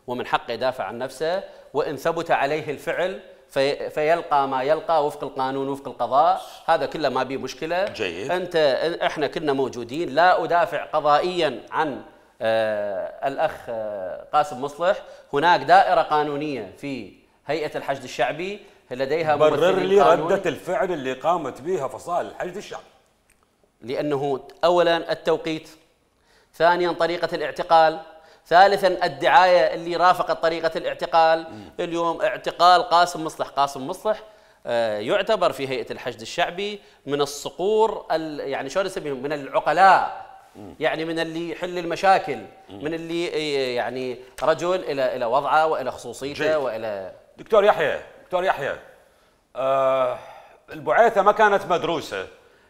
ومن حقه يدافع عن نفسه، وان ثبت عليه الفعل في فيلقى ما يلقى وفق القانون وفق القضاء، هذا كله ما بيه مشكله. جيد. انت احنا كنا موجودين، لا ادافع قضائيا عن آه الاخ آه قاسم مصلح. هناك دائره قانونيه في هيئه الحشد الشعبي لديها برر لي رده الفعل اللي قامت بها فصائل الحشد الشعبي. لانه اولا التوقيت، ثانيا طريقه الاعتقال، ثالثا الدعايه اللي رافقت طريقه الاعتقال. م. اليوم اعتقال قاسم مصلح، قاسم مصلح آه يعتبر في هيئه الحشد الشعبي من الصقور، يعني شلون نسميهم، من العقلاء، م. يعني من اللي يحل المشاكل، م. من اللي يعني رجل الى الى وضعه والى خصوصيته. جيد. والى دكتور يحيى دكتور يحيى آه البعيثه ما كانت مدروسه،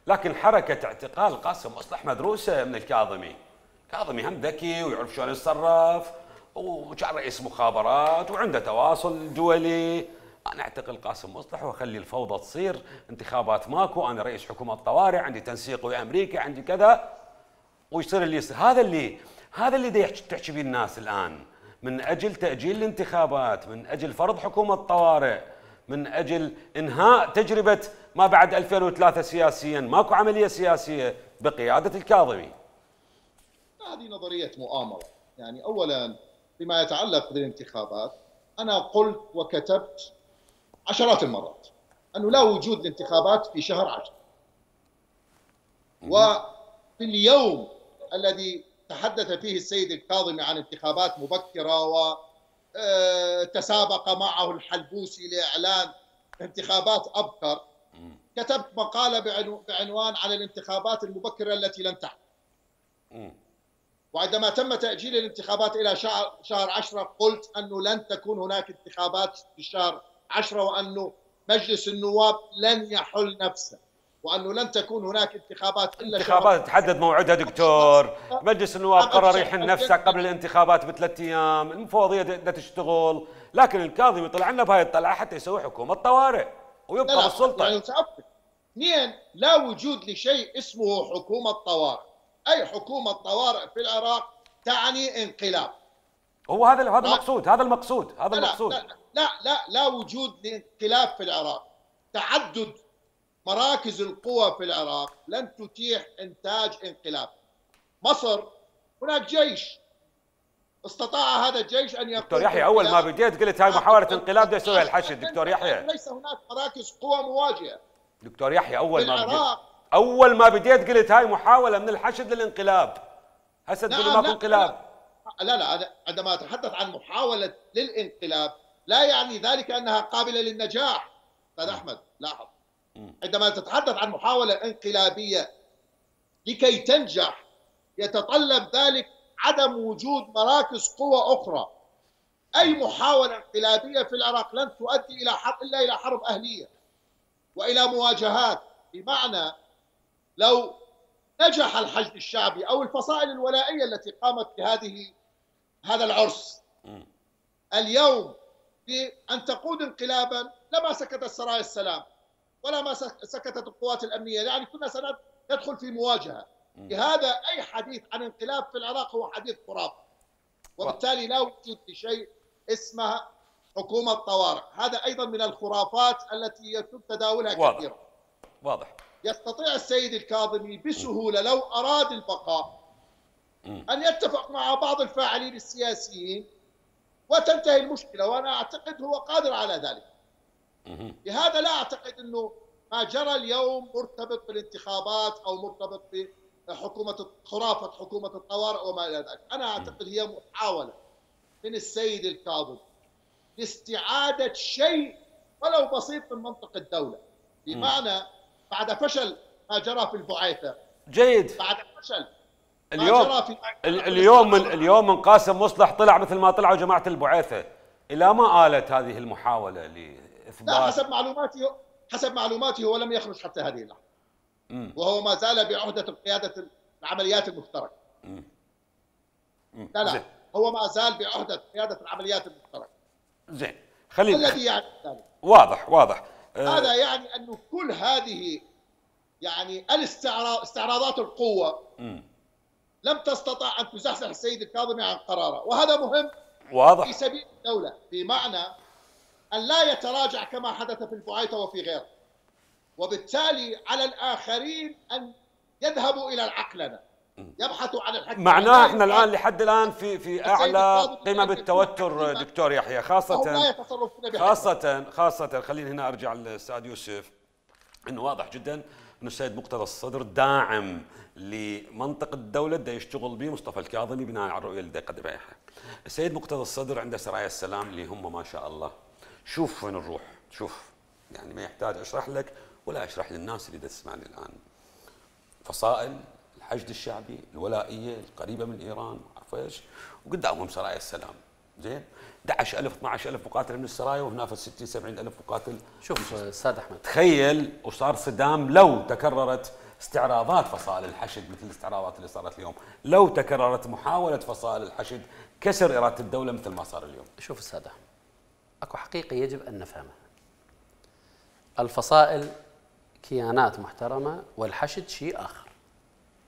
لكن حركه اعتقال قاسم مصلح مدروسه من الكاظمي. كاظمي هم ذكي ويعرف شلون يتصرف، وكان رئيس مخابرات وعنده تواصل دولي انا اعتقل قاسم مصلح واخلي الفوضى تصير، انتخابات ماكو، انا رئيس حكومه طوارئ، عندي تنسيق ويا امريكا، عندي كذا، ويصير اللي يصير. هذا اللي هذا اللي دا تحكي به الناس الان، من اجل تاجيل الانتخابات، من اجل فرض حكومه طوارئ، من اجل انهاء تجربه ما بعد ألفين وثلاثة سياسيا، ماكو عمليه سياسيه بقياده الكاظمي. هذه نظريه مؤامره، يعني اولا فيما يتعلق بالانتخابات انا قلت وكتبت عشرات المرات انه لا وجود لانتخابات في شهر عشرة، وفي اليوم الذي تحدث فيه السيد الكاظمي عن انتخابات مبكره وتسابق معه الحلبوسي لاعلان انتخابات ابكر، كتبت مقاله بعنوان على الانتخابات المبكره التي لن تحدث. وعندما تم تأجيل الانتخابات إلى شهر شهر عشرة قلت أنه لن تكون هناك انتخابات في شهر عشرة، وأنه مجلس النواب لن يحل نفسه، وأنه لن تكون هناك انتخابات إلا انتخابات تحدد موعدها دكتور، مجلس النواب قرر يحل نفسه قبل الانتخابات بثلاث أيام، المفوضية بدها تشتغل، لكن الكاظمي طلع لنا بهاي الطلعة حتى يسوي حكومة طوارئ ويبقى بالسلطة. يعني اثنين، لا وجود لشيء اسمه حكومة طوارئ، أي حكومة طوارئ في العراق تعني انقلاب. هو هذا هذا المقصود، هذا المقصود، هذا المقصود. لا لا لا لا وجود لانقلاب في العراق. تعدد مراكز القوى في العراق لن تتيح إنتاج انقلاب. مصر هناك جيش استطاع هذا الجيش أن يكون. دكتور يحيى أول ما بديت قلت هاي محاولة انقلاب بده يسويها الحشد. دكتور يحيى ليس هناك مراكز قوى مواجهة. دكتور يحيى أول ما بديت أول ما بديت قلت هاي محاولة من الحشد للانقلاب، هسه تقول ماكو انقلاب. لا لا لا عندما أتحدث عن محاولة للانقلاب لا يعني ذلك أنها قابلة للنجاح. أستاذ أحمد لاحظ، عندما تتحدث عن محاولة انقلابية لكي تنجح يتطلب ذلك عدم وجود مراكز قوى أخرى. أي محاولة انقلابية في العراق لن تؤدي إلى حرب إلا إلى حرب أهلية وإلى مواجهات. بمعنى لو نجح الحشد الشعبي أو الفصائل الولائية التي قامت بهذه هذا العرس اليوم بأن تقود انقلابا لما سكتت سرايا السلام ولا ما سكتت القوات الأمنية، يعني كنا سندخل في مواجهة. لهذا أي حديث عن انقلاب في العراق هو حديث خرافي، وبالتالي لا وجود لشيء اسمها حكومة طوارئ. هذا أيضا من الخرافات التي يتم تداولها واضح. كثيرا. واضح. يستطيع السيد الكاظمي بسهولة لو أراد البقاء أن يتفق مع بعض الفاعلين السياسيين وتنتهي المشكلة، وأنا أعتقد هو قادر على ذلك. لهذا لا أعتقد أنه ما جرى اليوم مرتبط بالانتخابات أو مرتبط بحكومة خرافة حكومة الطوارئ وما إلى ذلك. أنا أعتقد هي محاولة من السيد الكاظمي لاستعادة شيء ولو بسيط من منطق الدولة. بمعنى بعد فشل ما جرى في البعيثة، جيد، بعد فشل اليوم ما جرى في اليوم من اليوم من قاسم مصلح طلع مثل ما طلعوا جماعة البعيثة، إلى ما آلت هذه المحاولة لإثبات؟ لا، حسب معلوماتي حسب معلوماتي هو لم يخرج حتى هذه اللحظة، وهو ما زال بعهدة قيادة العمليات المشتركة. لا لا زين. هو ما زال بعهدة قيادة العمليات المشتركة. زين، خلينا الذي يعني ذلك واضح واضح أه هذا يعني أنه كل هذه يعني الاستعراض استعراضات القوة م. لم تستطع أن تزحزح السيد الكاظمي عن قراره، وهذا مهم واضح في سبيل الدولة، بمعنى أن لا يتراجع كما حدث في البعيثة وفي غيره. وبالتالي على الآخرين أن يذهبوا إلى العقلنة، يبحثوا عن الحق. معناه احنا الآن لحد الآن في في أعلى قمم التوتر دكتور يحيى، خاصة خاصة خاصة خليني هنا أرجع للأستاذ يوسف، إنه واضح جدا إنه السيد مقتدى الصدر داعم لمنطق الدولة دا يشتغل به مصطفى الكاظمي بناء على الرؤية اللي دا يقدمها. السيد مقتدى الصدر عنده سرايا السلام اللي هم ما شاء الله. شوف وين نروح، شوف يعني ما يحتاج أشرح لك ولا أشرح للناس اللي دا تسمعني الآن. فصائل الحشد الشعبي الولائية القريبة من إيران، عارف ايش؟ وقدامهم سرايا السلام، زين؟ أحد عشر ألف اثني عشر ألف مقاتل من السرايا، وهنا في ستين سبعين ألف مقاتل. شوف أستاذ أحمد، تخيل وصار صدام لو تكررت استعراضات فصائل الحشد مثل الاستعراضات اللي صارت اليوم، لو تكررت محاولة فصائل الحشد كسر إرادة الدولة مثل ما صار اليوم. شوف أستاذ أحمد، اكو حقيقة يجب أن نفهمها. الفصائل كيانات محترمة والحشد شيء آخر.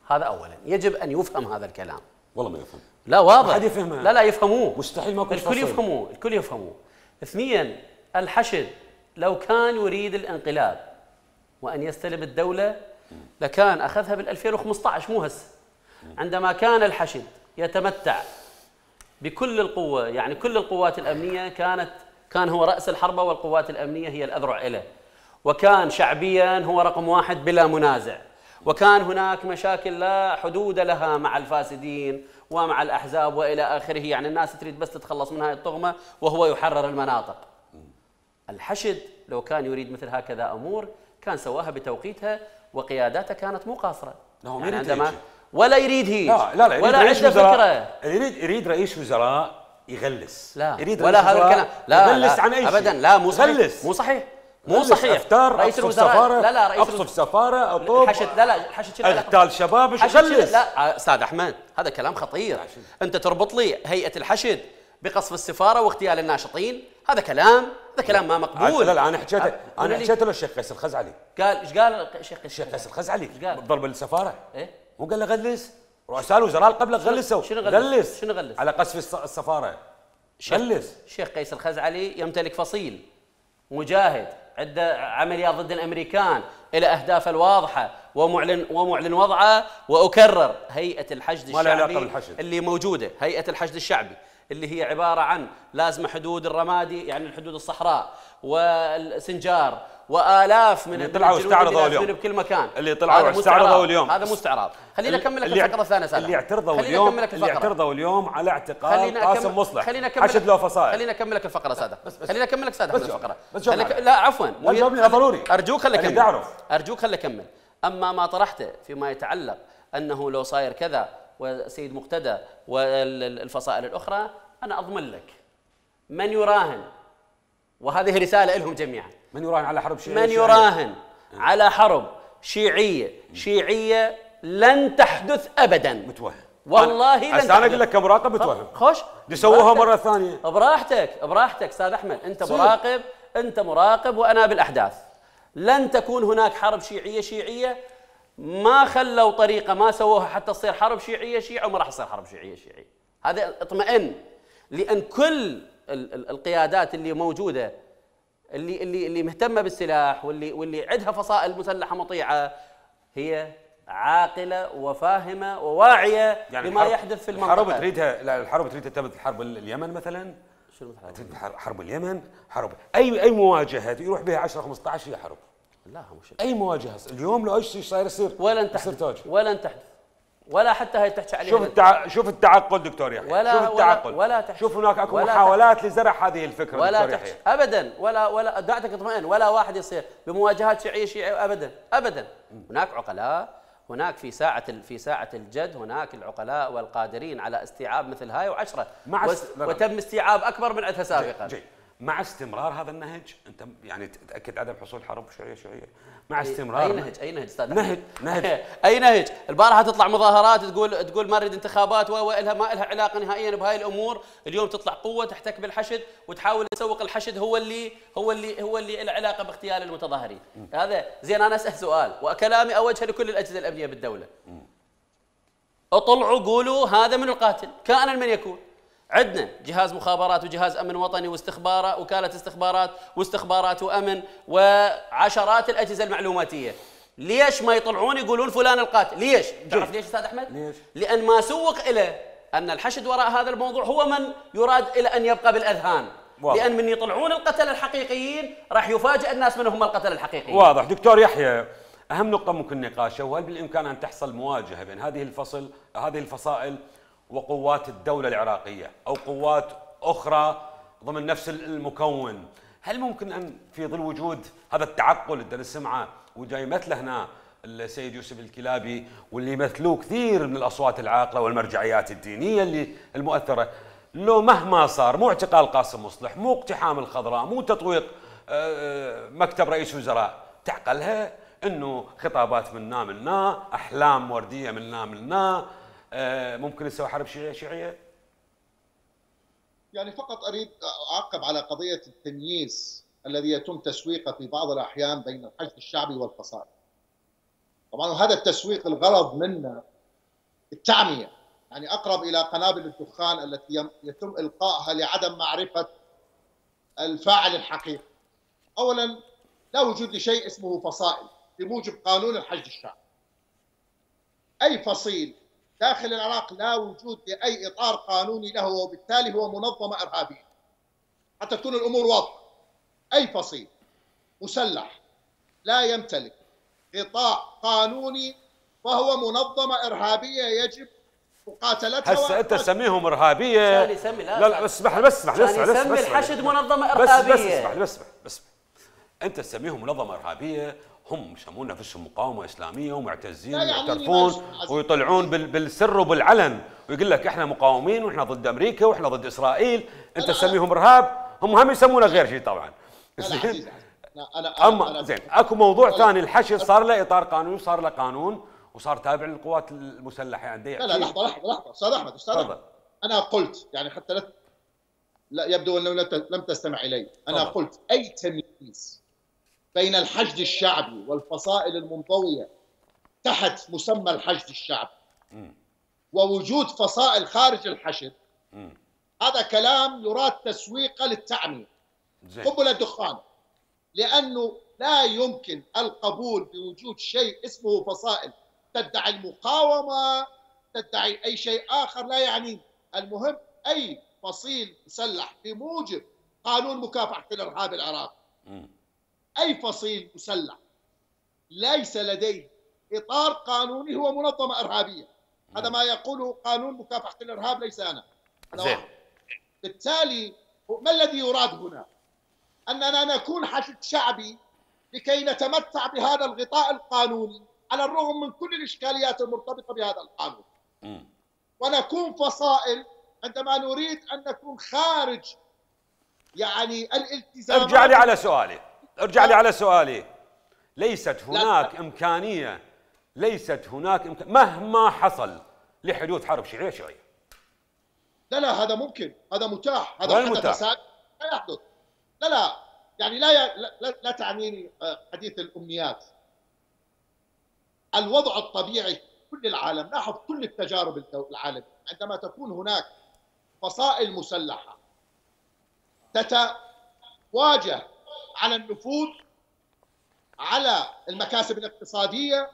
هذا أولا يجب أن يفهم هذا الكلام. والله ما يفهم. لا واضح. ما حد يفهمها. لا لا يفهموه. مستحيل ماكو الكل يفهموه، الكل يفهموه. اثنيا الحشد لو كان يريد الانقلاب وأن يستلم الدولة لكان أخذها بال ألفين وخمسة عشر مو هسه. عندما كان الحشد يتمتع بكل القوة، يعني كل القوات الأمنية كانت كان هو رأس الحربة والقوات الأمنية هي الأذرع له، وكان شعبيا هو رقم واحد بلا منازع، وكان هناك مشاكل لا حدود لها مع الفاسدين ومع الأحزاب وإلى آخره، يعني الناس تريد بس تتخلص من هاي الطغمة وهو يحرر المناطق. الحشد لو كان يريد مثل هكذا أمور كان سواها بتوقيتها وقياداته كانت مو قاصرة. يعني عندما ولا يريد هيك لا لا, لا ولا عنده فكرة. يريد يريد رئيس وزراء يغلس. لا يريد ولا هذا الكلام. لا يغلس لا عن أي شيء أبدا. لا مو صحيح. يغلس. مو صحيح. مو صحيح. افتار رئيس الوزراء. لا لا رئيس اقصف سفاره اطوب الحشد. لا لا الحشد اغتال شباب يغلس. لا استاذ احمد هذا كلام خطير. انت تربط لي هيئه الحشد بقصف السفاره واغتيال الناشطين، هذا كلام هذا كلام ما مقبول. لا لا انا حكيت انا حكيت له الشيخ قيس الخزعلي. قال ايش قال الشيخ قيس؟ الشيخ قيس الخزعلي قال ضرب السفاره. ايه مو قال له غلس؟ رؤساء الوزراء اللي قبله غلسوا. شنو غلس؟ غلس شنو غلس؟ على قصف السفاره. غلس. الشيخ قيس الخزعلي يمتلك فصيل مجاهد عنده عمليات ضد الامريكان الى اهدافه الواضحه ومعلن ومعلن وضعه. واكرر هيئه الحشد الشعبي اللي موجوده، هيئه الحشد الشعبي اللي هي عباره عن لازمه حدود الرمادي يعني الحدود الصحراء والسنجار والاف من اللي طلعوا استعرضوا اليوم بكل مكان، اللي طلعوا استعرضوا اليوم. هذا مو استعراض. خلينا اكمل لك الفقره الثانيه سادة. اللي اعترضوا اليوم اللي اعترضوا اليوم على اعتقال قاسم مصلح حشد له فصائل. خلينا اكمل لك الفقره سادة. خلينا اكمل لك سادة الفقره. خليك... لا عفوا لا جاوبني ضروري. ارجوك خلي اكمل. ارجوك خلي اكمل. اما ما طرحته فيما يتعلق انه لو صاير كذا وسيد مقتدى والفصائل الاخرى، انا اضمن لك من يراهن، وهذه رساله لهم جميعا، من يراهن على حرب شيعيه، من يراهن على حرب شيعيه شيعيه لن تحدث ابدا. متوهم والله لن تحدث. انا اقول لك كمراقب متوهم. خوش يسووها مره ثانيه براحتك براحتك استاذ احمد. انت صير. مراقب انت مراقب وانا بالاحداث. لن تكون هناك حرب شيعيه شيعيه. ما خلوا طريقه ما سووها حتى تصير حرب شيعيه شيعه وما راح تصير حرب شيعيه شيعيه. هذا اطمئن، لان كل القيادات اللي موجوده اللي اللي اللي مهتمه بالسلاح واللي واللي عندها فصائل مسلحه مطيعه هي عاقله وفاهمه وواعيه يعني لما يحدث في المنطقه. الحرب تريدها، لا الحرب تريدها تمت حرب اليمن مثلا. شنو مثل حرب اليمن؟ حرب اي اي مواجهه يروح بها عشرة خمسة عشر هي حرب. لا مش اي مواجهه اليوم لو ايش صاير يصير ولن تحدث ولن تحدث ولا حتى هي تحكي عليها. شوف التع... شوف التعقل دكتور يحيى. ولا شوف التعقل ولا, ولا شوف هناك اكو محاولات لزرع هذه الفكره ولا دكتور يحيى. ابدا ولا ولا دعتك اطمئن ولا واحد يصير بمواجهات شيعيه شيعيه ابدا ابدا. هناك عقلاء، هناك في ساعه في ساعه الجد هناك العقلاء والقادرين على استيعاب مثل هاي وعشره مع وس... وتم استيعاب اكبر من عندها سابقا. جي. جي. مع استمرار هذا النهج انت يعني تتاكد عدم حصول حرب شيعيه شيعيه مع استمرار. اي نهج اي نهج استاذ نهج نهج اي نهج. البارحه تطلع مظاهرات تقول تقول ما نريد انتخابات والها ما لها علاقه نهائيا بهاي الامور. اليوم تطلع قوه تحتك بالحشد وتحاول تسوق الحشد هو اللي هو اللي هو اللي له علاقه باغتيال المتظاهرين. م. هذا زين. انا اسال سؤال وكلامي اوجهه لكل الاجهزه الامنيه بالدوله. م. اطلعوا قولوا هذا من القاتل كائنا من يكون. عندنا جهاز مخابرات وجهاز امن وطني واستخبارات وكاله استخبارات واستخبارات وامن وعشرات الاجهزه المعلوماتيه. ليش ما يطلعون يقولون فلان القاتل؟ ليش؟ تعرف ليش استاذ احمد؟ ليش؟ لان ما سوق له ان الحشد وراء هذا الموضوع هو من يراد الى ان يبقى بالاذهان. واضح. لان من يطلعون القتله الحقيقيين راح يفاجئ الناس من هم القتله الحقيقيين. واضح دكتور يحيى. اهم نقطه ممكن نقاشها، وهل بالامكان ان تحصل مواجهه بين هذه الفصل هذه الفصائل وقوات الدولة العراقية أو قوات أخرى ضمن نفس المكون؟ هل ممكن أن في ظل وجود هذا التعقل اللي نسمعه وجاي يمثله هنا السيد يوسف الكلابي واللي يمثلوه كثير من الأصوات العاقلة والمرجعيات الدينية اللي المؤثرة، لو مهما صار مو اعتقال قاسم مصلح، مو اقتحام الخضراء، مو تطويق مكتب رئيس وزراء، تعقلها انه خطابات منا منا، احلام ورديه منا منا، ممكن نسوي حرب شيعيه شيعيه؟ يعني فقط اريد اعقب على قضيه التمييز الذي يتم تسويقه في بعض الأحيان بين الحشد الشعبي والفصائل. طبعا هذا التسويق الغرض منه التعمية، يعني أقرب إلى قنابل الدخان التي يتم إلقائها لعدم معرفة الفاعل الحقيقي. أولا لا وجود لشيء اسمه فصائل بموجب قانون الحشد الشعبي. أي فصيل داخل العراق لا وجود لأي إطار قانوني له، وبالتالي هو منظمة إرهابية. حتى تكون الأمور واضحة، أي فصيل مسلح لا يمتلك غطاء قانوني فهو منظمة إرهابية يجب مقاتلتها. هسه أنت تسميهم إرهابية؟ لا يسمي لا لا لا اسمح لي بس اسمح لي يسمي الحشد منظمة بس إرهابية. بس اسمح لي بس بس أنت تسميهم منظمة إرهابية، هم يسمون نفسهم مقاومة إسلامية ومعتزين ويعترفون ويطلعون بالسر وبالعلن ويقول لك إحنا مقاومين وإحنا ضد أمريكا وإحنا ضد إسرائيل. أنت تسميهم إرهاب، هم هم يسمونه غير شيء طبعا. زين. أنا أما زين أكو موضوع ثاني، الحشد صار له إطار قانوني، صار له قانون وصار تابع للقوات المسلحة يعني. لا لا لحظة لحظة لحظة أستاذ أحمد أستاذ أحمد أنا قلت يعني حتى لا لا يبدو أنه لم تستمع إلي. أنا طبعا. قلت أي تمييز بين الحشد الشعبي والفصائل المنضوية تحت مسمى الحشد الشعبي م. ووجود فصائل خارج الحشد م. هذا كلام يراد تسويقه للتعمية. قبل الدخان، لأنه لا يمكن القبول بوجود شيء اسمه فصائل تدعي المقاومة، تدعي أي شيء آخر لا يعني. المهم أي فصيل مسلح بموجب قانون مكافحة الإرهاب العراقي، أي فصيل مسلح ليس لديه إطار قانوني هو منظمة إرهابية. هذا ما يقوله قانون مكافحة الإرهاب، ليس أنا. زين. بالتالي ما الذي يراد هنا؟ أننا نكون حشد شعبي لكي نتمتع بهذا الغطاء القانوني على الرغم من كل الإشكاليات المرتبطة بهذا القانون، م. ونكون فصائل عندما نريد أن نكون خارج يعني الالتزامات. ارجع لي على سؤالي ارجع لي على سؤالي ليست هناك لا. إمكانية ليست هناك إمكانية مهما حصل لحدوث حرب شيعية شيعية. لا لا هذا ممكن، هذا متاح، هذا حدث لا يحدث. لا لا يعني لا لا, لا تعنيني حديث الأمنيات. الوضع الطبيعي في كل العالم، لاحظ كل التجارب العالمية، عندما تكون هناك فصائل مسلحة تتواجه على النفوذ، على المكاسب الاقتصادية،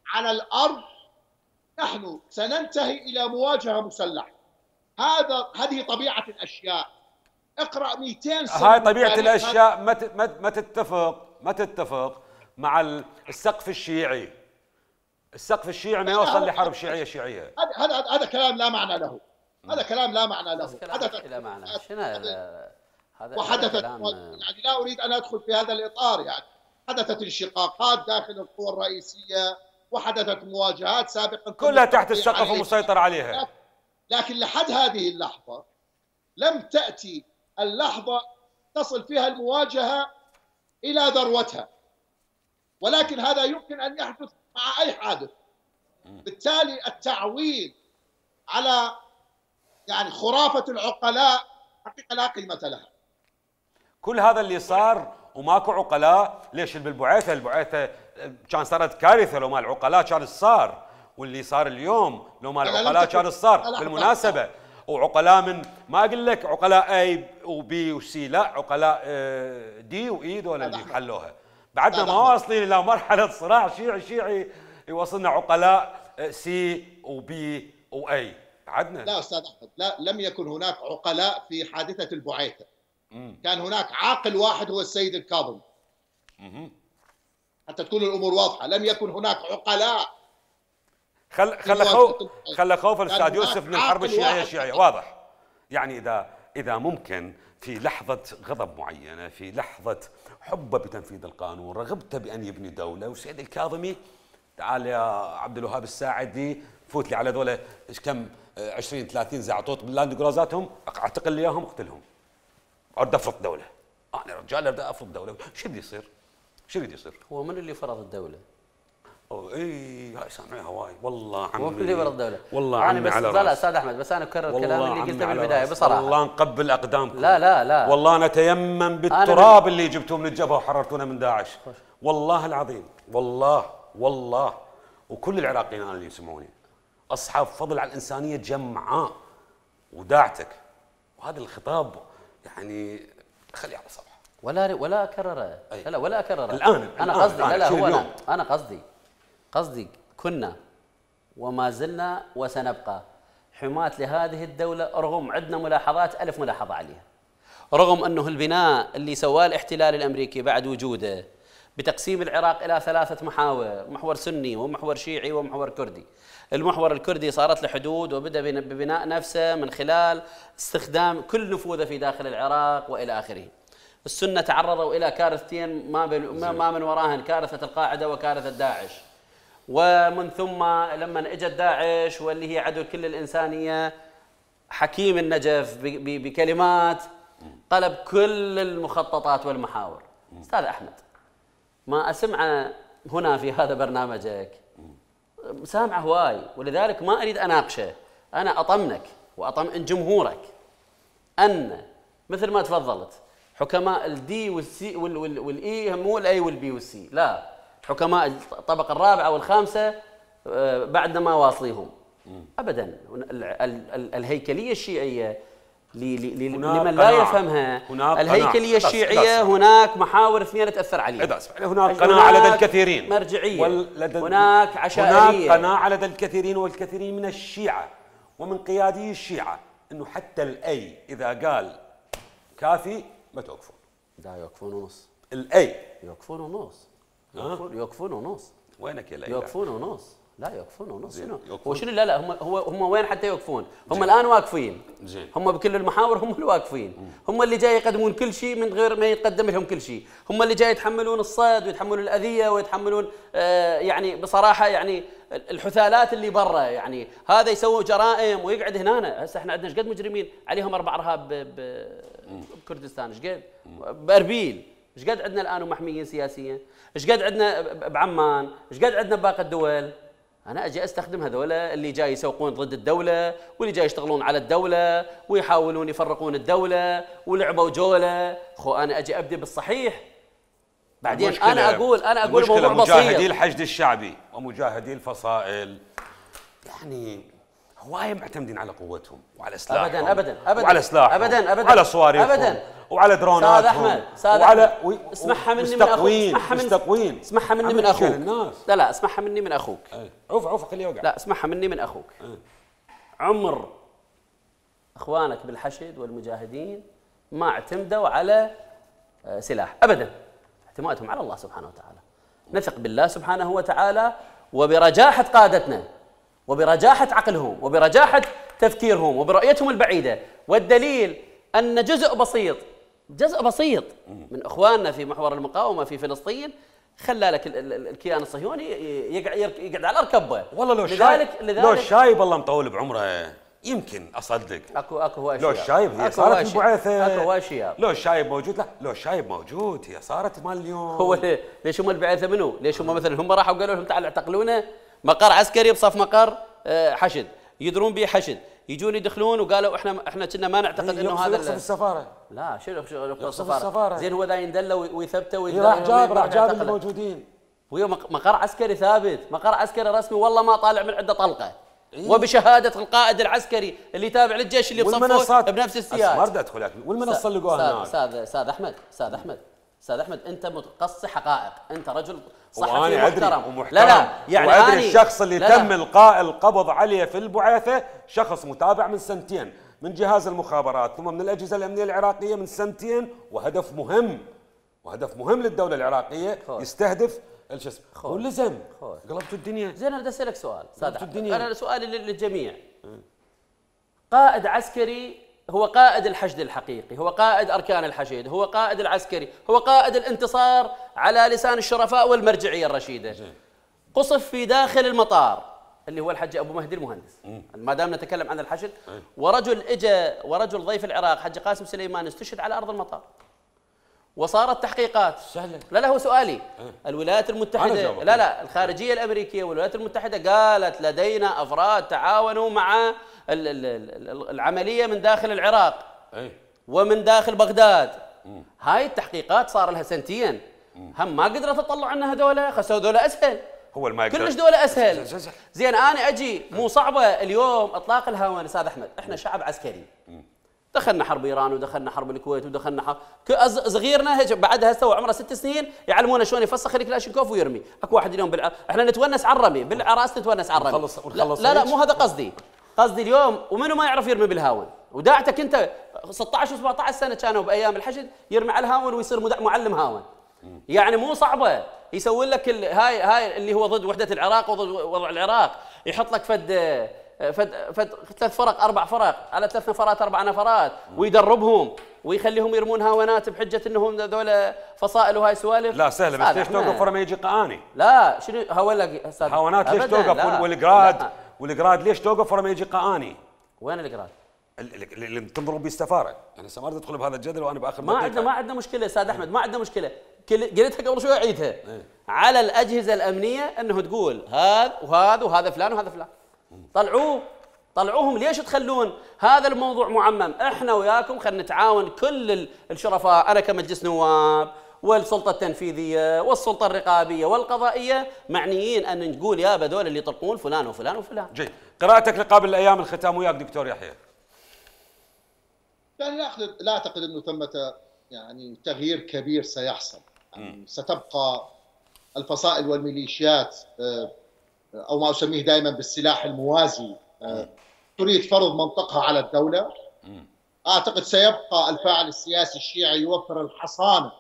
على الأرض، نحن سننتهي إلى مواجهة مسلحة. هذا هذه طبيعة الأشياء. اقرأ مئتين سنة. هاي طبيعة الأشياء ما ما تتفق ما تتفق مع السقف الشيعي. السقف الشيعي ما يوصل لحرب شيعية شيعية. هذا هذا هذا كلام لا معنى له. هذا كلام لا معنى له. حدثت لا معنى. شنو هذا؟ وحدثت يعني لا أريد أن أدخل في هذا الإطار. يعني حدثت انشقاقات داخل القوى الرئيسية وحدثت مواجهات سابقا كلها تحت السقف ومسيطر عليها. لكن لحد هذه اللحظة لم تأتي اللحظة تصل فيها المواجهة إلى ذروتها، ولكن هذا يمكن أن يحدث مع أي حادث. بالتالي التعويل على يعني خرافة العقلاء حقيقة لا قيمة لها. كل هذا اللي صار وماكو عقلاء، ليش بالبعيثة البعيثة كان صارت كارثة لو ما العقلاء كان صار، واللي صار اليوم لو ما العقلاء كان صار. بالمناسبة وعقلاء من ما اقول لك عقلاء اي وبي وسي، لا عقلاء دي واي دول اللي حلوها. بعدنا ما واصلين الى مرحله صراع شيعي شيعي يوصلنا عقلاء سي وبي واي بعدنا. لا استاذ احمد، لا لم يكن هناك عقلاء في حادثه البعيثه. مم. كان هناك عاقل واحد هو السيد الكاظمي. حتى تكون الامور واضحه، لم يكن هناك عقلاء. خل خل خوف خل خوف الاستاذ يوسف من الحرب الشيعيه الشيعيه واضح. يعني اذا اذا ممكن في لحظه غضب معينه، في لحظه حبه بتنفيذ القانون، رغبته بان يبني دوله، وسيد الكاظمي تعال يا عبد الوهاب الساعدي فوت لي على ذولا ايش كم عشرين ثلاثين زعطوط باللاند جروزاتهم، اعتقل لي اياهم اقتلهم. اريد افرض دوله. انا رجال اريد افرض دوله، شو بده يصير؟ شو بده يصير؟ هو من اللي فرض الدوله؟ اي هاي سامعها هواي والله عمي. مو في برا الدوله والله انا عمي بس على لا لا راسي. استاذ احمد، بس انا اكرر والله الكلام اللي عمي قلته على بالبدايه راسي. بصراحه. والله نقبل اقدامكم. لا لا لا والله نتيمم بالتراب اللي جبتوه من الجبهه وحررتونا من داعش. والله العظيم والله والله وكل العراقيين انا اللي يسمعوني اصحاب فضل على الانسانيه جمعاء وداعتك، وهذا الخطاب يعني خليه على صبح. ولا ولا اكرره، لا لا ولا اكرره الان انا الآن قصدي لا لا هو اليوم. انا انا قصدي قصدي كنا وما زلنا وسنبقى حماة لهذه الدولة، رغم عندنا ملاحظات ألف ملاحظة عليها، رغم أنه البناء اللي سواه الاحتلال الأمريكي بعد وجوده بتقسيم العراق إلى ثلاثة محاور، محور سني ومحور شيعي ومحور كردي. المحور الكردي صارت له حدود وبدأ ببناء نفسه من خلال استخدام كل نفوذه في داخل العراق وإلى آخره. السنة تعرضوا إلى كارثتين ما, ما من وراهن كارثة القاعدة وكارثة داعش، ومن ثم لما اجت داعش واللي هي عدو كل الإنسانية، حكيم النجف بكلمات قلب كل المخططات والمحاور. أستاذ أحمد، ما أسمع هنا في هذا برنامجك سامع هواي، ولذلك ما أريد أناقشه. أنا أطمنك وأطمئن جمهورك أن مثل ما تفضلت حكماء الدي والسي والإي مو الأي والبي والسي، لا، حكماء الطبقة الرابعة والخامسة بعدنا ما واصليهم أبدا. الهيكلية الشيعية لمن لا يفهمها، الهيكلية الشيعية هناك محاور اثنين تأثر عليها. هناك قناعة لدى الكثيرين، مرجعية، هناك عشائرية، هناك قناعة لدى الكثيرين والكثيرين من الشيعة ومن قيادي الشيعة أنه حتى الأي إذا قال كافي ما توقفون. لا يوقفون ونص. الأي يوقفون ونص. يوقفون يوقفون ونص. وينك يا ليلى؟ يوقفون ونص. لا يوقفون ونص. شنو؟ هو شنو؟ لا لا هم هو هم وين حتى يوقفون؟ هم الآن واقفين. زين. هم بكل المحاور هم اللي واقفين. هم اللي جاي يقدمون كل شيء من غير ما يتقدم لهم كل شيء. هم اللي جاي يتحملون الصيد ويتحملون الأذية ويتحملون آه يعني بصراحة يعني الحثالات اللي برا، يعني هذا يسوي جرائم ويقعد هنا. هسه احنا عندنا ايش قد مجرمين عليهم اربع ارهاب بكردستان، ايش قد؟ باربيل، ايش قد عندنا الان ومحميين سياسيا؟ ايش قد عندنا بعمان؟ ايش قد عندنا بباقي الدول؟ انا اجي استخدم هذول اللي جاي يسوقون ضد الدوله واللي جاي يشتغلون على الدوله ويحاولون يفرقون الدوله ولعبوا جوله. خو انا اجي ابدي بالصحيح، بعدين انا اقول انا اقول موضوع بسيط. مجاهدي الحشد الشعبي ومجاهدي الفصائل يعني هوايه معتمدين على قوتهم وعلى سلاحهم. ابدا ابدا ابدا وعلى سلاحهم ابدا ابدا وعلى صواريخهم ابدا وعلى دروناتهم. استاذ احمد استاذ وعلى و... اسمعها مني من اخوك. مستقوين اسمعها مني من اخوك. الناس. لا لا اسمعها مني من اخوك. عوف عوف خليه يوقع. لا اسمعها مني من اخوك. أه. عمر اخوانك بالحشد والمجاهدين ما اعتمدوا على سلاح ابدا، اعتمادهم على الله سبحانه وتعالى. نثق بالله سبحانه وتعالى وبرجاحة قادتنا وبرجاحة عقلهم وبرجاحة تفكيرهم وبرؤيتهم البعيدة. والدليل أن جزء بسيط جزء بسيط من إخواننا في محور المقاومة في فلسطين خلى لك الكيان الصهيوني يقعد يقعد على الأركبة. والله لو لذلك لذلك لو الشايب الله مطول بعمره يمكن اصدق. اكو اكو هواي لو الشايب هي صارت البعثه. اكو هواي شياب. لو الشايب موجود، لا لو الشايب موجود هي صارت مال اليوم. هو ليش هم البعثه منو؟ ليش هم مثلا هم راحوا قالوا لهم تعالوا اعتقلونا؟ مقر عسكري بصف مقر حشد، يدرون به حشد، يجون يدخلون وقالوا احنا احنا كنا ما نعتقد انه هذا يقصف السفاره. لا شنو يقصف السفاره؟ زين هو ذا يندلوا ويثبتوا ويدلوا. راح جاب راح جاب الموجودين. وهي مقر عسكري ثابت، مقر عسكري رسمي، والله ما طالع من عنده طلقه. إيه؟ وبشهاده القائد العسكري اللي تابع للجيش اللي بصفه بنفس السياق. ما بدي ادخل والمنصه اللي لقوها هناك. استاذ استاذ احمد استاذ احمد استاذ احمد انت متقصي حقائق، انت رجل صحفي محترم. ومحترم. لا لا يعني وادري الشخص اللي لا تم القاء القبض عليه في البعثه شخص متابع من سنتين من جهاز المخابرات ثم من الاجهزه الامنيه العراقيه من سنتين، وهدف مهم وهدف مهم للدوله العراقيه خوش. يستهدف الشو اسمه واللزم. قلبتوا الدنيا. زين انا بدي اسالك سؤال استاذ، انا سؤالي للجميع. قائد عسكري هو قائد الحشد الحقيقي، هو قائد اركان الحشد، هو قائد العسكري، هو قائد الانتصار على لسان الشرفاء والمرجعيه الرشيده. قصف في داخل المطار اللي هو الحج ابو مهدي المهندس، ما دام نتكلم عن الحشد، ورجل اجى ورجل ضيف العراق حج قاسم سليمان استشهد على ارض المطار. وصارت تحقيقات. سهلة. لا لا هو سؤالي. أه. الولايات المتحدة لا لا الخارجية الأمريكية والولايات المتحدة قالت لدينا أفراد تعاونوا مع العملية من داخل العراق أي. ومن داخل بغداد. مم. هاي التحقيقات صار لها سنتين. مم. هم ما قدرت تطلع عنها هذولا، خسوا هذولا أسهل. هو ما كلش دولة أسهل. زين أنا أجي مو صعبة اليوم إطلاق الهوان أستاذ أحمد، إحنا شعب عسكري. دخلنا حرب إيران ودخلنا حرب الكويت ودخلنا حرب صغيرنا هيك بعدها هسه عمره ست سنين يعلمونا شلون يفسخ الكلاشينكوف ويرمي، اكو واحد اليوم بالع... احنا نتونس على الرمي، بالعراس نتونس على الرمي. ونخلص ونخلص لا لا مو هذا قصدي، قصدي اليوم ومنو ما يعرف يرمي بالهاون، وداعتك انت ستة عشر وسبعة عشر سنة كانوا بايام الحشد يرمي على الهاون ويصير معلم هاون. يعني مو صعبة، يسوي لك ال... هاي هاي اللي هو ضد وحدة العراق وضد وضع العراق، يحط لك فد فد فد ثلاث فرق اربع فرق على ثلاث نفرات اربع نفرات ويدربهم ويخليهم يرمون هاونات بحجه انهم هذول فصائل وهاي سوالف. لا سهله بس ليش توقف ورا ما يجي قاني؟ لا شنو هاولك استاذ هاونات ليش توقف والجراد والجراد ليش توقف ورا ما يجي قاني؟ وين الجراد؟ اللي تنضرب به السفاره، يعني هسه ما اريد ادخل بهذا الجدل وانا باخر ما عندنا ما عندنا مشكله استاذ احمد، ما عندنا مشكله، قلتها قبل شوي اعيدها. على الاجهزه الامنيه انه تقول هذا وهذا وهذا فلان وهذا فلان. طلعوه طلعوهم، ليش تخلون هذا الموضوع معمم؟ احنا وياكم خلينا نتعاون كل الشرفاء، انا كمجلس نواب والسلطه التنفيذيه والسلطه الرقابيه والقضائيه معنيين ان نقول يا بدول اللي يطلقون فلان وفلان وفلان. جيد، قراءتك لقابل الايام الختام وياك دكتور يحيى. يعني لا اعتقد لا اعتقد انه ثمه يعني تغيير كبير سيحصل، يعني ستبقى الفصائل والميليشيات او ما اسميه دائما بالسلاح الموازي تريد فرض منطقها على الدولة. أعتقد سيبقى الفاعل السياسي الشيعي يوفر الحصانة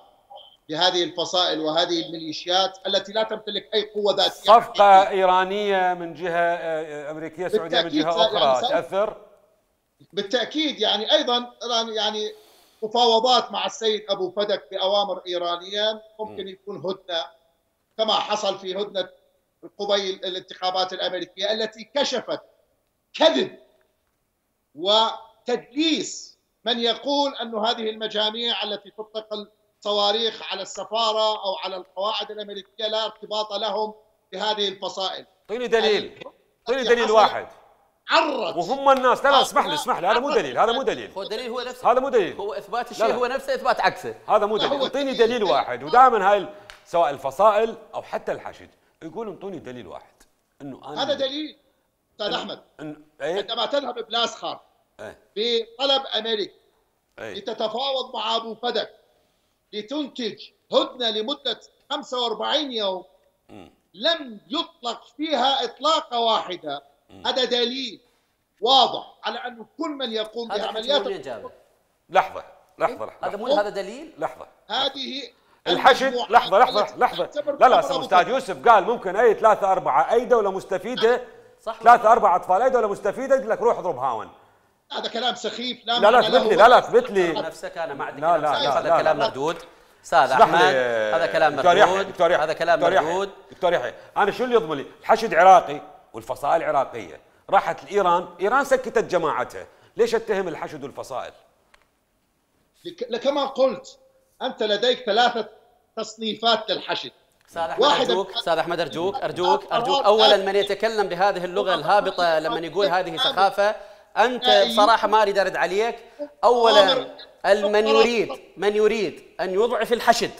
لهذه الفصائل وهذه الميليشيات التي لا تمتلك أي قوة ذاتية. صفقة إيرانية من جهة أمريكية سعودية من جهة أخرى يعني تأثر؟ بالتأكيد، يعني أيضا يعني مفاوضات مع السيد أبو فدك بأوامر إيرانية ممكن يكون هدنة كما حصل في هدنة قبيل الانتخابات الأمريكية التي كشفت كذب وتدليس من يقول أن هذه المجاميع التي تطلق الصواريخ على السفارة أو على القواعد الأمريكية لا ارتباط لهم بهذه الفصائل. اعطيني دليل، اعطيني دليل واحد. عرت وهم الناس لا لا اسمح لي اسمح لي هذا مو دليل، هذا مو دليل. هو دليل هو نفسه، هذا مو دليل، هو إثبات الشيء هو نفسه إثبات عكسه. هذا مو دليل، اعطيني دليل واحد. ودائما هاي سواء الفصائل أو حتى الحشد يقولوا انطوني دليل واحد انه انا هذا دليل استاذ احمد. عندما تذهب بلاسخار بطلب امريكا لتتفاوض مع ابو فدك لتنتج هدنه لمده خمسة وأربعين يوم لم يطلق فيها اطلاقه واحده، هذا دليل واضح على انه كل من يقوم بعمليات لحظه لحظه لحظه هذا مو هذا دليل. لحظه هذه الحشد لحظه لحظه لحظه لا لا استاذ يوسف قال ممكن اي ثلاثه اربعه اي دوله مستفيده صح ثلاثه اربعه اطفال اي دوله مستفيده يقول لك روح اضرب هاون. هذا كلام سخيف. لا لا لا اثبت لي لا لا اثبت لي نفسك انا ما عندي لا لا لا هذا كلام مردود استاذ احمد، هذا كلام مردود، هذا كلام مردود. دكتور يحيى انا شو اللي يضمن لي؟ الحشد عراقي والفصائل عراقيه، راحت لايران، ايران سكتت جماعتها، ليش اتهم الحشد والفصائل؟ كما قلت انت لديك ثلاثه تصنيفات للحشد. استاذ احمد ارجوك، استاذ احمد ارجوك ارجوك ارجوك اولا من يتكلم بهذه اللغه الهابطه لما يقول هذه سخافه انت بصراحه ما اريد ارد عليك. اولا من يريد من يريد ان يضعف الحشد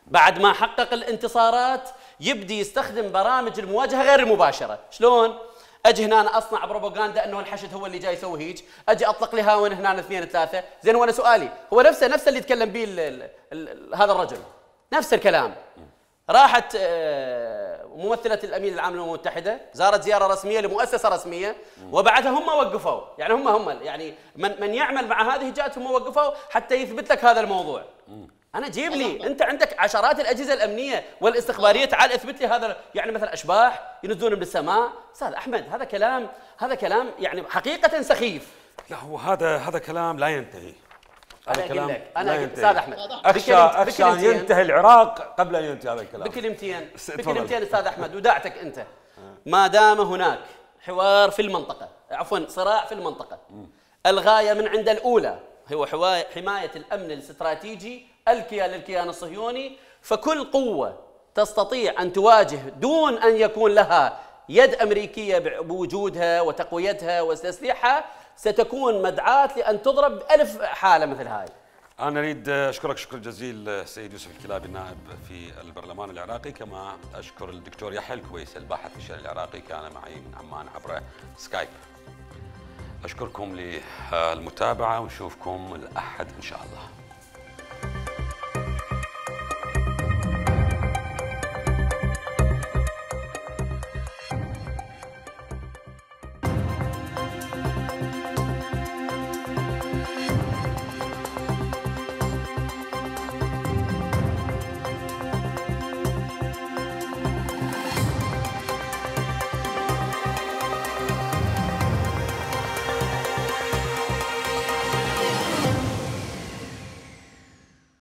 بعد ما حقق الانتصارات يبدي يستخدم برامج المواجهه غير المباشره. شلون؟ اجي هنا اصنع بروباغندا انه الحشد هو اللي جاي يسوي هيك، اجي اطلق لي هاون هنا اثنين ثلاثه، زين وانا سؤالي هو نفسه نفسه اللي يتكلم به هذا الرجل، نفس الكلام. راحت ممثله الامين العام للامم المتحده زارت زياره رسميه لمؤسسه رسميه وبعدها هم وقفوا، يعني هم هم يعني من من يعمل مع هذه الجهات هم وقفوا حتى يثبت لك هذا الموضوع. انا جيب لي انت عندك عشرات الاجهزه الامنيه والاستخباريه، تعال اثبت لي هذا، يعني مثلا اشباح ينزلون من السماء. استاذ احمد هذا كلام هذا كلام يعني حقيقه سخيف. لا هو هذا هذا كلام لا ينتهي. انا اقول لك انا استاذ احمد اخشى اخشى ان ينتهي العراق قبل ان ينتهي هذا الكلام. بكلمتين بكلمتين استاذ احمد وداعتك انت. ما دام هناك حوار في المنطقه، عفوا صراع في المنطقه، الغايه من عند الاولى هو حمايه الامن الاستراتيجي الكيان للكيان الصهيوني، فكل قوة تستطيع أن تواجه دون أن يكون لها يد أمريكية بوجودها وتقويتها وتسليحها ستكون مدعاة لأن تضرب بألف حالة مثل هاي. أنا أريد أشكرك شكر جزيل سيد يوسف الكلابي النائب في البرلمان العراقي، كما أشكر الدكتور يحيى الكويس الباحث في الشأن العراقي كان معي من عمان عبر سكايب. أشكركم للمتابعة ونشوفكم الأحد إن شاء الله.